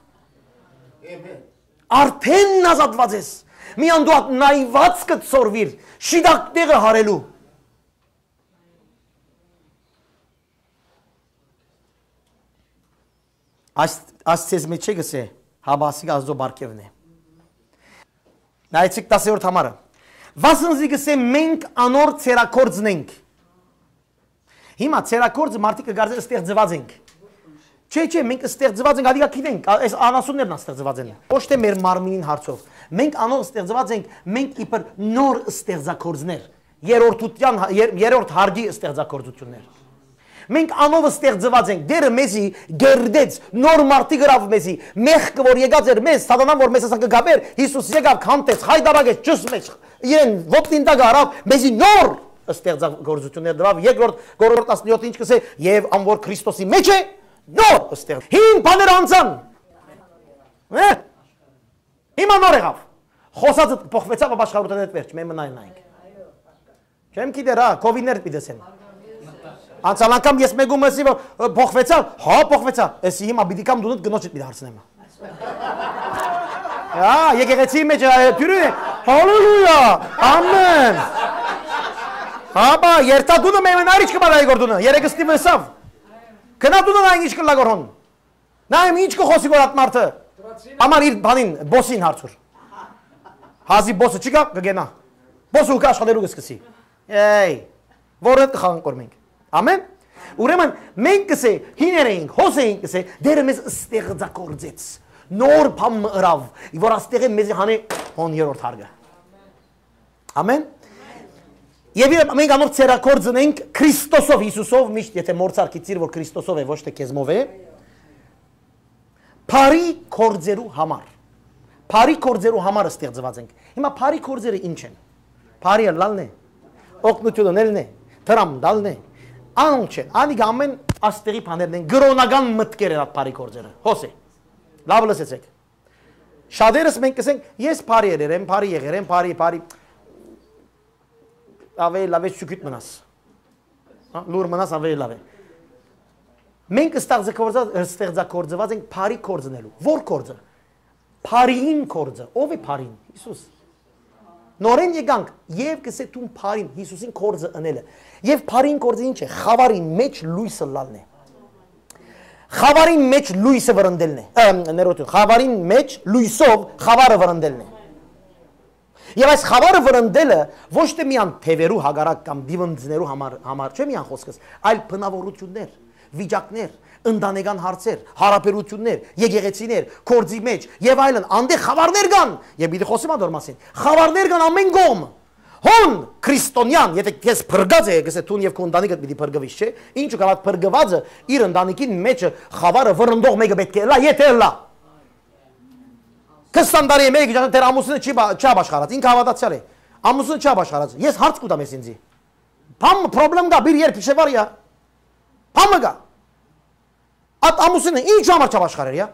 Արդեն ազատված ես։ Միան դու ատ նայվածքը սորվիր, շիտակ տեղը հարելու։ Այս, այս ցեզ մեջ չէ գսե, հապա ասիկա Աստուծոյ պարգեւն է։ Նայեցիք տասերորդ համարը։ Վասն զի գսե, մենք անոր ցերակորձն ենք։ Հիմա ցերակորձը մարդիկ կը կարծեն ստեղծված ենք։ Չէ, չէ, մենք ստեղծված ենք, ադիկա գիտենք, ա-, այս անասուններն ան ստեղծված են։ Ոչ թե մեր մարմինին հարցով։ Մենք անով ստեղծված ենք, մենք իբր նոր ստեղծագործներ, երրորդության, եր-, երրորդ հարգի ստեղծագործություններ։ Մենք անով ստեղծված ենք, Տերը մեզի գերդեց, նոր մարդի գրաւ մեզի, մեղքը որ եկած էր մեզ, սատանան որ մեզ ասան կը գաբեր, Յիսուս եկաւ, քանտեց, խայտարակեց, ճուս մեջ, իրեն ոտնին տակ առաւ, մեզի նոր ստեղծագործություններ տվաւ, երկրորդ Կորինթ տասնյոթ ինչ կսե, «Եւ ան որ Քրիստոսի մեջ է, նոր ստեղծ-»։ Հին բաները անցան։ Հե՞։ Հիմա նոր եղաւ։ Խոսածդ փոխվեցաւ, ապաշխարութենէդ վերջ, մեն մնայ նայենք։ Չեմ գիտեր, հա, կովիններ պիտի դեսեն։ Անցյալ անգամ ես մեկում ասի, որ, ը, փոխվեցա, հա, փոխվեցա։ Էսի հիմա պիտի կամ դունդ գնոջդ պիտի հարցնեմ։ Հա, եկեղեցի մեջ, ա, դյուրին է, հալելույա, ամեն։ Հա, բա, երթա դունը մեն մնայր, ինչ կը պատահի գոր դունը, երեկ ստիվ ըսավ։ Գնա դունը նայ ինչ կը լա գոր հոն։ Նայեմ ինչ կը խոսի գոր ատ մարդը։ Համար իր բանին, բոսին հարցուր։ Հազի բոսը չի գա, կը գենա։ Բոսը ու կը աշխատելու կը սկսի։ Էյ, որը կը խաղանք որ մենք։ Ամեն։ Ուրեմն մենք կսե հիներ էինք, հոս էինք կսե, Տերը մեզ ստեղծագործեց։ Նոր բան մը ըրավ, որ աստեղէ մեզ հանե հոն երրորդ հարգը։ Ամեն։ Եվ իրեն մենք անոր ցերակորձն ենք Քրիստոսով, Յիսուսով, միշտ եթե մորցար գիտիր, որ Քրիստոսով է, ոչ թե քեզմով է, բարի գործերու համար։ Բարի գործերու համար ստեղծված ենք։ Հիմա բարի գործերը ինչ են։ Բարի ըլլալն է, օգնություն ընելն է, դրամ տալն է։ Անոնք չեն, անիկա ամեն աստեղի բաներն են, կրոնական մտքեր են այդ բարի գործերը։ Հոս է։ Լավ լսեցեք։ Շատերս մենք կսենք, «Ես բարի եղեր եմ, բարի եղեր եմ, բարի, բարի»։ Աւելի լաւ է, շուքիտ մնաս։ Հա, լուր մնաս, աւելի լաւ է։ Մենք ստեղծագործած, ստեղծագործված ենք բարի գործ ընելու։ Ո՞ր գործը։ Բարիին գործը։ Ո՞վ է բարին։ Յիսուս։ Նորեն եկանք, եւ կսե դուն բարին, Յիսուսին գործը ընելը։ Եւ բարին գործը ինչ է։ Խավարին մեջ լոյսը լալն է։ Խավարին մեջ լոյսը վրընդելն է։ Ը, ներողություն, խավարին մեջ լոյսով խավարը վրընդելն է։ Եվ այս խավարը վրընդելը ոչ թե միան թևերու հակառակ կամ դիվնձներու համար, համար չէ միան խոսքս, այլ բնավորություններ, վիճակներ, ընտանեկան հարցեր, հարաբերություններ, եկեղեցիներ, գործի մեջ եւ այլն, անդեղ խավարներ կան, եւ պիտի խոսեմ անդոր մասին, խավարներ կան ամեն կողմ։ Հոն քրիստոնեան, եթե քեզ փրկած է, կսե դուն եւ քո ընտանիքդ պիտի փրկվիս, չէ՞։ Ինչու՞ կալ այդ փրկվածը իր ընտանիքին մեջ խավարը վրընդող մեկը պէտք է ըլլայ, եթե ըլլայ։ Քսան տարի է մեկը, դեռ ամուսինը չի բա-, չի ապաշխարած, ինքը հավատացյալ է։ Ամուսինը չի ապաշխարած, ես հարց կուտամ ես ինձի։ Բան, պրոբլեմ կա, բիր երբ իշեվար յա։ Բան մը կա։ Այդ ամուսինը ինչ համար չապաշխարեր յա։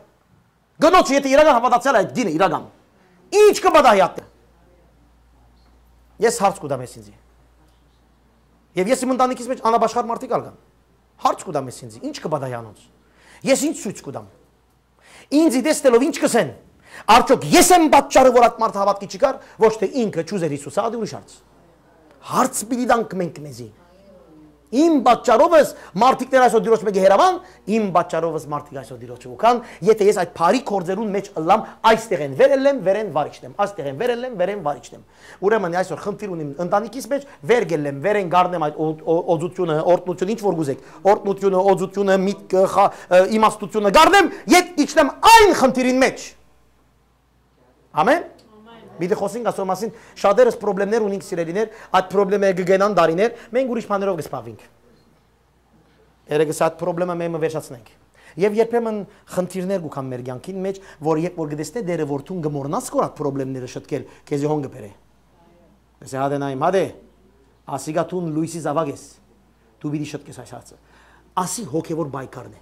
Գնոջ, եթե իրական հավատացյալ է այդ դինը, իրական, ինչ կը պատահի ատը։ Ես հարց կուտամ ես ինձի։ Եվ ես իմ ընտանիքիս մեջ անապաշխար մարդիկ ալ կան։ Հարց կու տամ ես ինձի, ի՞նչ կը պատահի անոնց։ Ես ի՞նչ ցոյց կու տամ։ Ինձի տեսնելով ի՞նչ կ'ըսեն։ Արդյոք ես եմ պատճառը, որ այդ մարդը հաւատքի չի գար, ոչ թէ ինքը չուզեր Յիսուսը, ա դի ուրիշ հարց։ Հարց պիտի տանք մենք մեզի։ Իմ պատճառովս մարդիկներ այսօր Տիրոջ մէկը հեռաւան, իմ պատճառովս մարդիկ այսօր Տիրոջը կու գան, եթե ես այդ բարի գործերուն մէջ ըլլամ, այստեղ են վեր ելլեմ, վեր են վարիչնեմ, այստեղ են վեր ելլեմ, վեր են վարիչնեմ։ Ուրեմն այսօր խնդիր ունիմ ընտանիքիս մէջ, վեր կ'ելլեմ, վեր են գարնեմ այդ օ-, օ-, օծութիւնը, օրհնութիւնը, ինչ որ կ'ուզէք, օրհնութիւնը, օծութիւնը, միտքը, խա-, ը, իմաստութիւնը, գարնեմ, ետ իջնեմ այն խնդիրին մէջ։ Ամեն։ Պիտի խօսենք ասոր մասին, շատերս պրոբլեմներ ունենք, սիրելիներ, այդ պրոբլեմները կը գնան դարիներ, մենք ուրիշ բաներով կը զբաղվենք։ Երեկ ըսի, այդ պրոբլեմը մեմը վերջացնենք։ Եվ երբեմն խնդիրներ կու գան մեր կյանքին մեջ, որ երբ որ կտեսնէ Տերը, որ դուն կը մոռնաս քոր այդ պրոբլեմները շտկել, քեզի հոն կը բերէ։ Կ'ըսէ, հատե նայեմ, հատե, ասիկա դուն լոյսի զաւակ ես, դու պիտի շտկես այս հարցը։ Ասի հոգեվոր պայքարն է։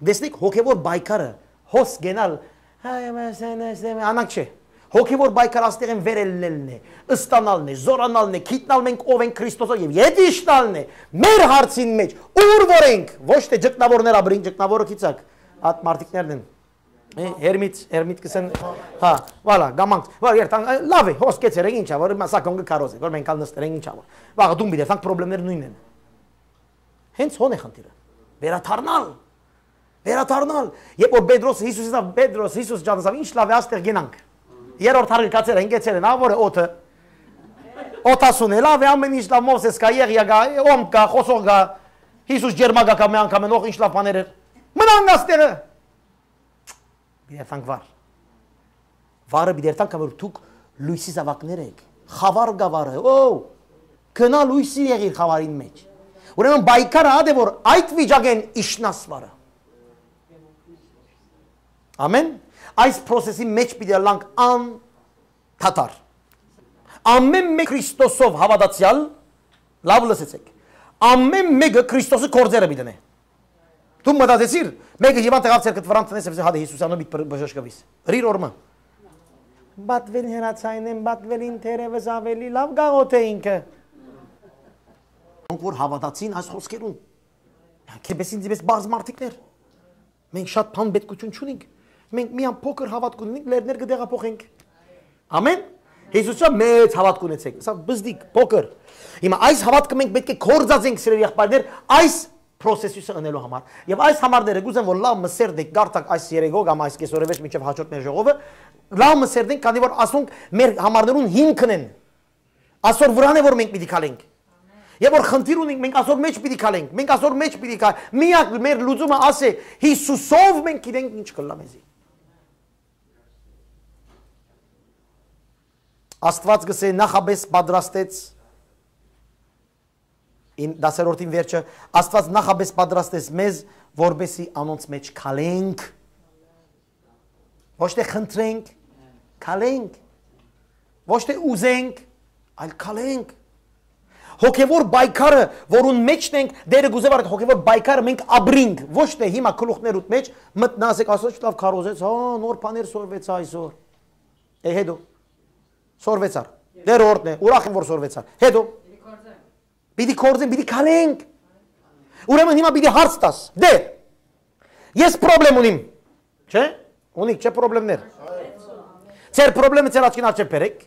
Տեսնեք, հոգեվոր պայքարը, հոս գենալ, հայ, մեսեն, մեսեն, անակ չէ։ Հոգեվոր պայքար աստեղեն վեր ելնելն է, ըստանալն է, զորանալն է, գիտնալ մենք ով ենք Քրիստոսով եւ ետ իջնալն է, մեր հարցին մեջ, ուր որ ենք, ոչ թէ ճգնավորներ ապրին, ճգնավորը գիցակ, այդ մարդիկներն են։ Է, հերմից, հերմիտ կսեն, հա, վալա, գամանք, վա, երթան, ը, լավ է, հոս կեցեր ենք, ինչա որ, հիմա սակոն կը քարոզեք, որ մենք ալ նստեր ենք, ինչա որ։ Վաղը դուն պիտի երթանք, պրոբլեմներ նույնն են։ Հենց հոն է խնդիրը։ Վերադառնալ։ Վերադառնալ։ Երբ որ Պետրոս Հիսուսին ասաւ, «Պետրոս, Հիսուս ջան», ասաւ, «Ինչ լավ է, աստեղ գնանք»։ Երրորդ հարկը կացեր են, կեցեր են, ա, որ է օդը։ Օդասուն է, լավ է, ամեն ինչ լավ, Մովսես կայ, Եղիա կայ, օմք կայ, խոսող կայ, Հիսուս ջերմակա կայ, մի անգամ են, օխ, ինչ լավ բաներ էր։ Մնանք աստեղը։ Պիտի երթանք վար։ Վարը պիտի երթանք, որ դուք լոյսի զաւակներ եք։ Խաւար կայ վարը, օ, գնա լոյսի եղիր խաւարին մեջ։ Ուրեմն պայքարը ա դե որ այդ վիճակեն իջնաս վարը։ Ամեն։ Այս process-ի մեջ պիտի ըլլանք անդադար։ Ամեն մէկ Քրիստոսով հաւատացեալ, լաւ լսեցեք, ամեն մէկը Քրիստոսի գործերը պիտի դնէ։ Դու մտածեցիր, մէկը հիվանդ եղաւ ձեռքդ վրան տնես, եսե հատե Հիսուսանով պիտի բժշկվիս։ Հրիր օրմը։ Պատվել հեռացայնեն, պատվել ինտերևս ավելի լաւ գաղոթ է ինքը։Ոնք որ հաւատացին այս խոսքերուն։ Քեպես ինձ պես բարձ մարդիկներ։ Մենք շատ բան պետքութիւն չունենք։ Մենք միան փոքր հաւատք ունենք, լեռներ կը տեղափոխենք։ Ամեն։ Հիսուսը մեծ հաւատք ունեցեք։ Սա բզդիկ, փոքր։ Հիմա այս հաւատքը մենք պետք է կործածենք, սիրելի եղբայրներ, այս process-ը ընելու համար։ Եվ այս համարները կուզեմ, որ լաւ մը սերտեք, գարտակ այս երեգո կամ այս կեսօրը վեճ մինչև հաջորդ մեր ժողովը, լաւ մը սերտենք, քանի որ ասոնք մեր համարներուն հիմքն են։ Ասոր վրան է, որ մենք պիտի քալենք։ Եվ որ խնդիր ունենք, մենք ասոր մեջ պիտի քալենք, մենք ասոր մեջ պիտի քալ-, միակ մեր լուծումը ասե, Հիսուսով մենք գիտենք ինչ կլլա մեզի։ Աստված գսե նախապես պատրաստեց, ին-, դասերորդին վերջը, Աստված նախապես պատրաստեց մեզ, որպեսի անոնց մեջ քալենք։ Ոչ թէ խնդրենք, քալենք։ Ոչ թէ ուզենք, այլ քալենք։ Հոգեվոր պայքարը, որուն մեջն ենք, Տերը գուզե վարդ հոգեվոր պայքարը մենք ապրինք, ոչ թէ հիմա գլուխներուդ մեջ մտնասեք, ասած, «Լավ քարոզեց, հա, նոր բաներ սորվեցա այսօր»։ Է, հետո։ Սորվեցար։ Դեր օրհնե, ուրախ եմ, որ սորվեցար։ Հետո։ Պիտի կործեն, պիտի քալենք։ Ուրեմն հիմա պիտի հարց տաս։ Դե, ես պրոբլեմ ունիմ։ Չէ՞։ Ունիք, չէ՞, պրոբլեմներ։ Ձեր պրոբլեմը ձեր աչքին առջև բերեք։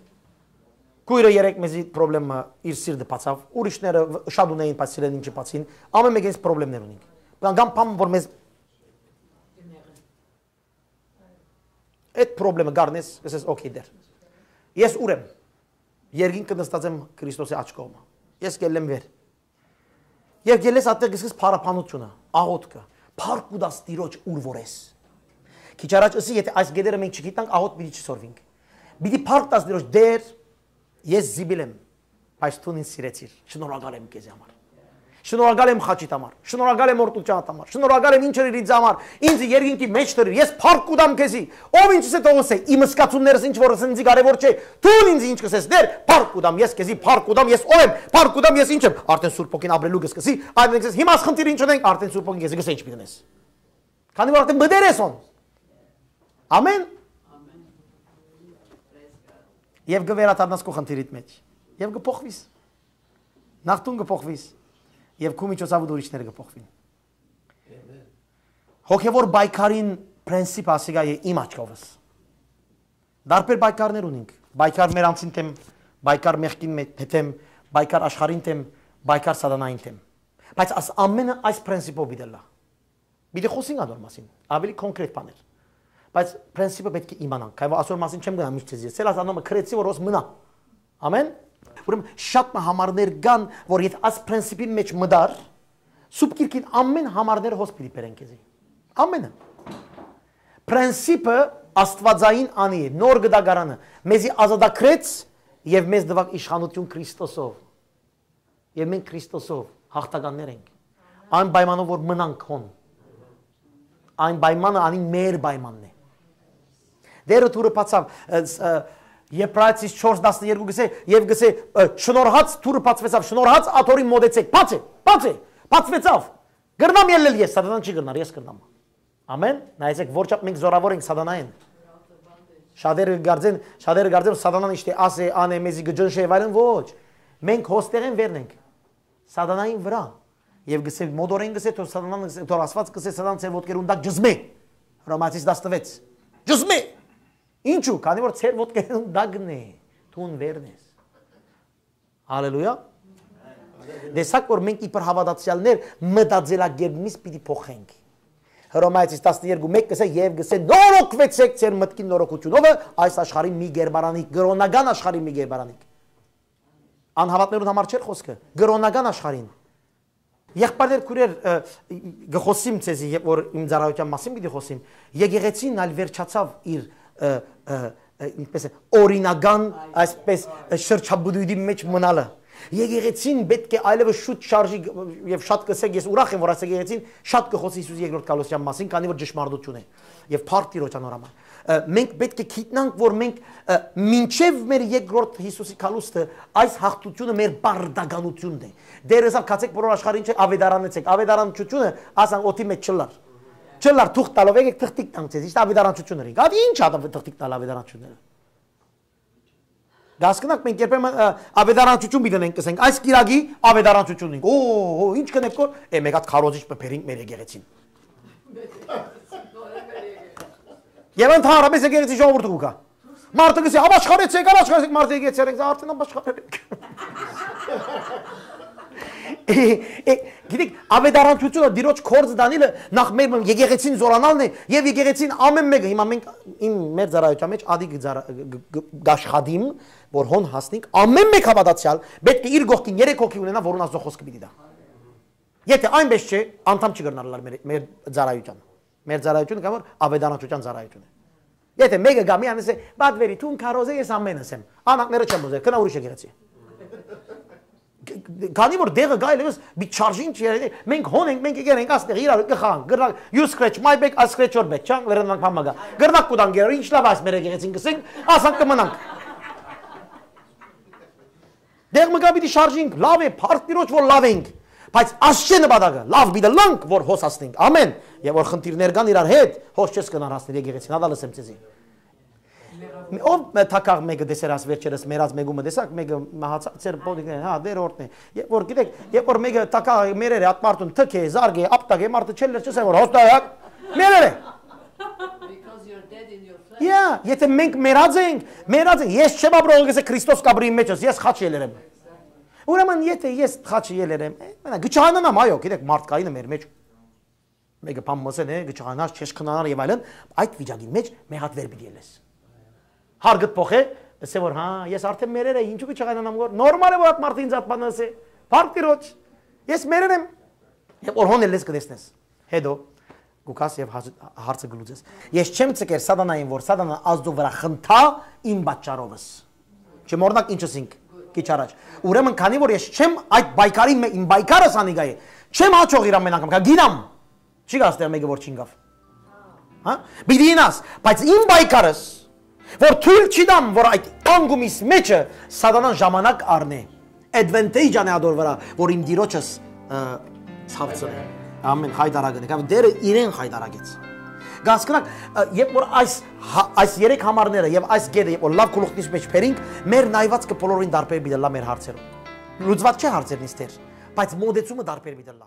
Քույրը երեկ մեզի պրոբլեմը իր սիրտը բացավ։ Ուրիշները վ-, շատ ունեին, բայց սիրեն ինչը բացին։ Ամեն մեկը պրոբլեմներ ունենք։ Բան կամ բան, որ մեզ այդ պրոբլեմը գարնես, ասես, «Okay, դեր։ Ես ուր եմ։ Երկինքը նստած եմ Քրիստոսի աջ կողմը։ Ես գելլեմ վեր»։ Երբ գելես, ատեղ գսկես փառաբանությունը, աղոթքը, փառք ու դաս Տիրոջ ուր որ ես։ Քիչ առաջ ըսի, եթե այս գետերը մենք չգիտնանք, աղոթ պիտի չսորվինք։ Պիտի փառք տաս Տիրոջ, «Տեր, ես զիպիլ եմ, բայց դուն ինձ սիրեցիր, շնորհակալ եմ քեզի համար։ Շնորհակալ եմ խաչիդ համար, շնորհակալ եմ օրհնությանդ համար, շնորհակալ եմ ինչ ըրիր ինձ համար, ինձ երկինքի մեջ դրիր, ես փառք կու տամ քեզի, ով ինչ սե թողոս է, իմ սկացումներս ինչ որ ինձի կարևոր չէ, դուն ինձ ինչ կսես, Տեր, փառք կու տամ, ես քեզի փառք կու տամ, ես ով եմ, փառք կու տամ, ես ինչ եմ»։ Արդեն Սուրբ Հոգին ապրելու կսկսի, այդ մենք ասես, «Հիմա այս խնդիրը ինչ ունենք»։ Արդեն Սուրբ Հոգին քեզի կսե ինչ պիտի դնես։ Քանի որ արդեն մտեր ես հոն։ Ամեն։ Եվ կվերադառնաս քո խնդիրիդ մեջ։ Եվ կփոխվիս։ Նախ դուն կփոխվիս։ Եւ քու միջոցաւուդ ուրիշները կը փոխուին։ Հոգեւոր պայքարին պրենսիպը ասիկա է իմ աչքովս։ Տարբեր պայքարներ ունինք։ Պայքար մեր անձին դէմ, պայքար մեղքին մէ-, դէմ, պայքար աշխարհին դէմ, պայքար սատանային դէմ։ Բայց աս ամէնը այս պրենսիպով պիտի ըլլայ։ Պիտի խօսենք ատոր մասին, ավելի կոնկրետ բաներ։ Բայց պրենսիպը պէտք է իմանանք, քանի որ ասոր մասին չեմ գնա միշտ ձեզի։ Սելաս անոնը քրեցի, որ ոս մնայ։ Ամեն։ Ուրեմն շատ մը համարներ կան, որ եթ այս պրենսիպին մեջ մտար, սուրբ գիրքին ամեն համարները հոս պիտի բերեն քեզի։ Ամենը։ Պրենսիպը աստուածային անի է, նոր գդակարանը, մեզի ազատագրեց եւ մեզ տուաւ իշխանութիւն Քրիստոսով։ Եւ մենք Քրիստոսով հաղթականներ ենք։ Այն պայմանով, որ մնանք հոն։ Այն պայմանը անի մեր պայմանն է։ Դերը դուռը բացաւ, ը, ս-, ը, Եբրայեցիս չորս տասներկու գսե, եւ գսե, ը, շնորհած դուռը բացուեցաւ, շնորհած աթորին մոտեցեք, բաց է, բաց է, բացուեցաւ։ Կրնամ ելլել ես, սատանան չի կրնար, ես կրնամ։ Ամեն, նայեցեք, որ չափ մենք զորավոր ենք սատանային։ Շատերը կարծեն, շատերը կարծեն, սատանան իշտե ասե, անե, մեզի կջնշե եւ այլն, ոչ։ Մենք հոստեղեն վերն ենք։ Սատանային վրա։ Եւ գսե, մոտորեն գսե, թող սատանան գսե, թող Աստված գսե, սատան ձեր ոտքերուն տակ ջզմէ։ Հռոմայեցիս տասնվեց։ Ջզմէ։ Ինչու՞, քանի որ ձեր ոտքերուն տակն է, դուն վերն ես։ Հալելույա։ Տեսակ, որ մենք իբր հաւատացեալներ մտածելակերպ միս պիտի փոխենք։ Հռոմայեցիս տասներկու մէկ գսե, եւ գսե, նորոգուեցեք ձեր մտքին նորոգութիւնովը, այս աշխարհին մի գերբարանիկ, կրոնական աշխարհին մի գերբարանիկ։ Անհաւատներուն համար չէր խօսքը, կրոնական աշխարհին։ Եղբայրներ, քուրեր, ը, գ-, խօսիմ ձեզի, երբ որ իմ ծառայութեան մասին պիտի խօսիմ, եկեղեցին ալ վերջացաւ իր, ը, ը, ը, ինչպես է, օրինական, այսպես, ը, շրջապտույտի մեջ մնալը։ Եկեղեցին պէտք է այլևս շուտ շարժի գ-, եւ շատ կսեք, ես ուրախ եմ, որ այս եկեղեցին շատ կխօսի Յիսուս երկրորդ գալուստեան մասին, քանի որ ճշմարտություն է եւ փառք Տիրոջ անոր համար։ Ը, մենք պէտք է գիտնանք, որ մենք, ը, մինչեւ մեր երկրորդ Յիսուսի գալուստը այս հաղթությունը մեր պարտականությունն է։ Դերը ըսաւ, «Գացեք բոլոր աշխարհին, չէ, աւետարանեցեք»։ Աւետարանչությունը, ասան, օդի մեջ չլար։ Չլար, թուղթ տալով, «Եկեք թղթիկ տանք ձեզ», իշտ աւետարանչությունը ըրինք։ Ատի ի՞նչ ա թղթիկ տալ աւետարանչությունները։ Գասկնակ մենք երբեմն, ը, աւետարանչություն պիտի ենք, կսենք, այս կիրակի աւետարանչություն ենք։ Օ, օ, ինչ կնեք կոր, է, մեկ հատ քարոզիչ մը բերինք մեր եկեղեցին։ Եւ ընդհանրապես եկեղեցի ժողովուրդը կու գայ։ Մարդը կսի, «Ապաշխարեցեք, ապաշխարեցեք», մարդը եկեցեր ենք, արդեն ապաշխարել ենք։ Է, է, գիտեք, աւետարանչությունը, Տիրոջ գործը Դանիելը նախ մեր եկեղեցին զորանալն է, եւ եկեղեցին ամեն մեկը, հիմա մենք իմ մեր ծառայության մեջ ադի կծառա-, կ-, կ-, կաշխատիմ, որ հոն հասնենք, ամեն մեկ հաւատացյալ պէտք է իր կողքին երեք հոգի ունենա, որուն Աստծո խոսքը պիտի տայ։ Եթե այնպես չէ, անդամ չի կրնար ըլլալ մեր, մեր ծառայության։ Մեր ծառայությունը կա որ աւետարանչության ծառայություն է։ Եթե մեկը գա մի անես է, «Պատվերի, դուն քարոզե, ես ամենս եմ»։ Անակները չեմ ուզեր, քնա ուրիշ եկեղեցի։ Ք-, ք-, քանի որ դեղը գայ լեւս, մի չարժին չի եղել, մենք հոն ենք, մենք եկել ենք, աստեղ իրար կխանք, գրնակ, «You scratch my back, I scratch your back», չան, վերանանք համագա։ Գրնակ կու տանք իրար, ինչ լավ այս մեր եկեղեցին կսենք, ասանք կմնանք։ Դեղ մը կա պիտի շարժինք, լավ է, փառք Տիրոջ որ լավ ենք, բայց աս չէ նպատակը, լավ պիտի լանք, որ հոս հասնենք, ամեն, եւ որ խնդիրներ կան իրար հետ, հոս չես կնար հասնել եկեղեցին, հատա լսեմ ձեզի։ Ով թակաղ մեկը տեսեր աս վերջերս մեռած մեկումը տեսակ, մեկը մահացած էր, բոդիկն է, հա, դեր օրդն է։ Երբ որ գիտեք, երբ որ մեկը թակաղ մերեր է, ատ մարդուն թք է, զարգ է, ապտակ է, մարդը չել լեր, չսե որ հոստայակ, մերեր է։ Because you're dead in your flesh. Yeah, եթե մենք մեռած ենք, մեռած ենք, ես չեմ ապրող, գսե Քրիստոս կապրի իմ մեջ ես, ես խաչ ելեր եմ։ Ուրեմն եթե ես խաչը ելեր եմ, է, մենակ գչանանամ, այո, գիտեք, մարդկայինը մեր մեջ մեկը բան մսեն է, գչանանաս, չես քնանար եւ այլն, այդ վիճակին մեջ մի հատ վեր պիտի ելես։ Հարգդ փոխե, ասե որ, հա, ես արդեն մերեր է, ինչու՞ գչանանամ որ, նորմալ է որ այդ մարդը ինձ այդ բանը ասե, փառք Տիրոջ, ես մերեր եմ, եւ որ հոն ելես կտեսնես։ Հետո, գուքաս եւ հաց-, հարցը գլուծես։ Ես չեմ ցկեր սատանային, որ սատանան Աստծո վրա խնդա իմ պատճառովս։ Չեմ օրինակ ինչ ասինք քիչ առաջ։ Ուրեմն քանի որ ես չեմ այդ պայքարի մե-, իմ պայքարս անիկա է, չեմ հաճող իր ամեն անգամ, կա գինամ։ Չի գա ստեղ մեկը որ չինգավ։ Հա? Պիտի ինաս, բայց իմ պայքարս, որ թույլ չի տամ, որ այդ անգումիս մեջը սատանան ժամանակ առնե, advantage անե ադոր վրա, որ իմ դիրոջս, ը, ցավցնե։ Ամեն խայտարակն է, կամ դերը իրեն խայտարակեց։ Գասկնակ, ը, երբ որ այս, հա, այս երեք համարները եւ այս գետը, երբ որ լավ գլուխնից մեջ բերինք, մեր նայվածքը բոլորին դարբեր պիտի լա մեր հարցերով։ Լուծված չէ հարցերն իստեր, Բայց մոտեցումը տարբեր պիտի ըլլայ։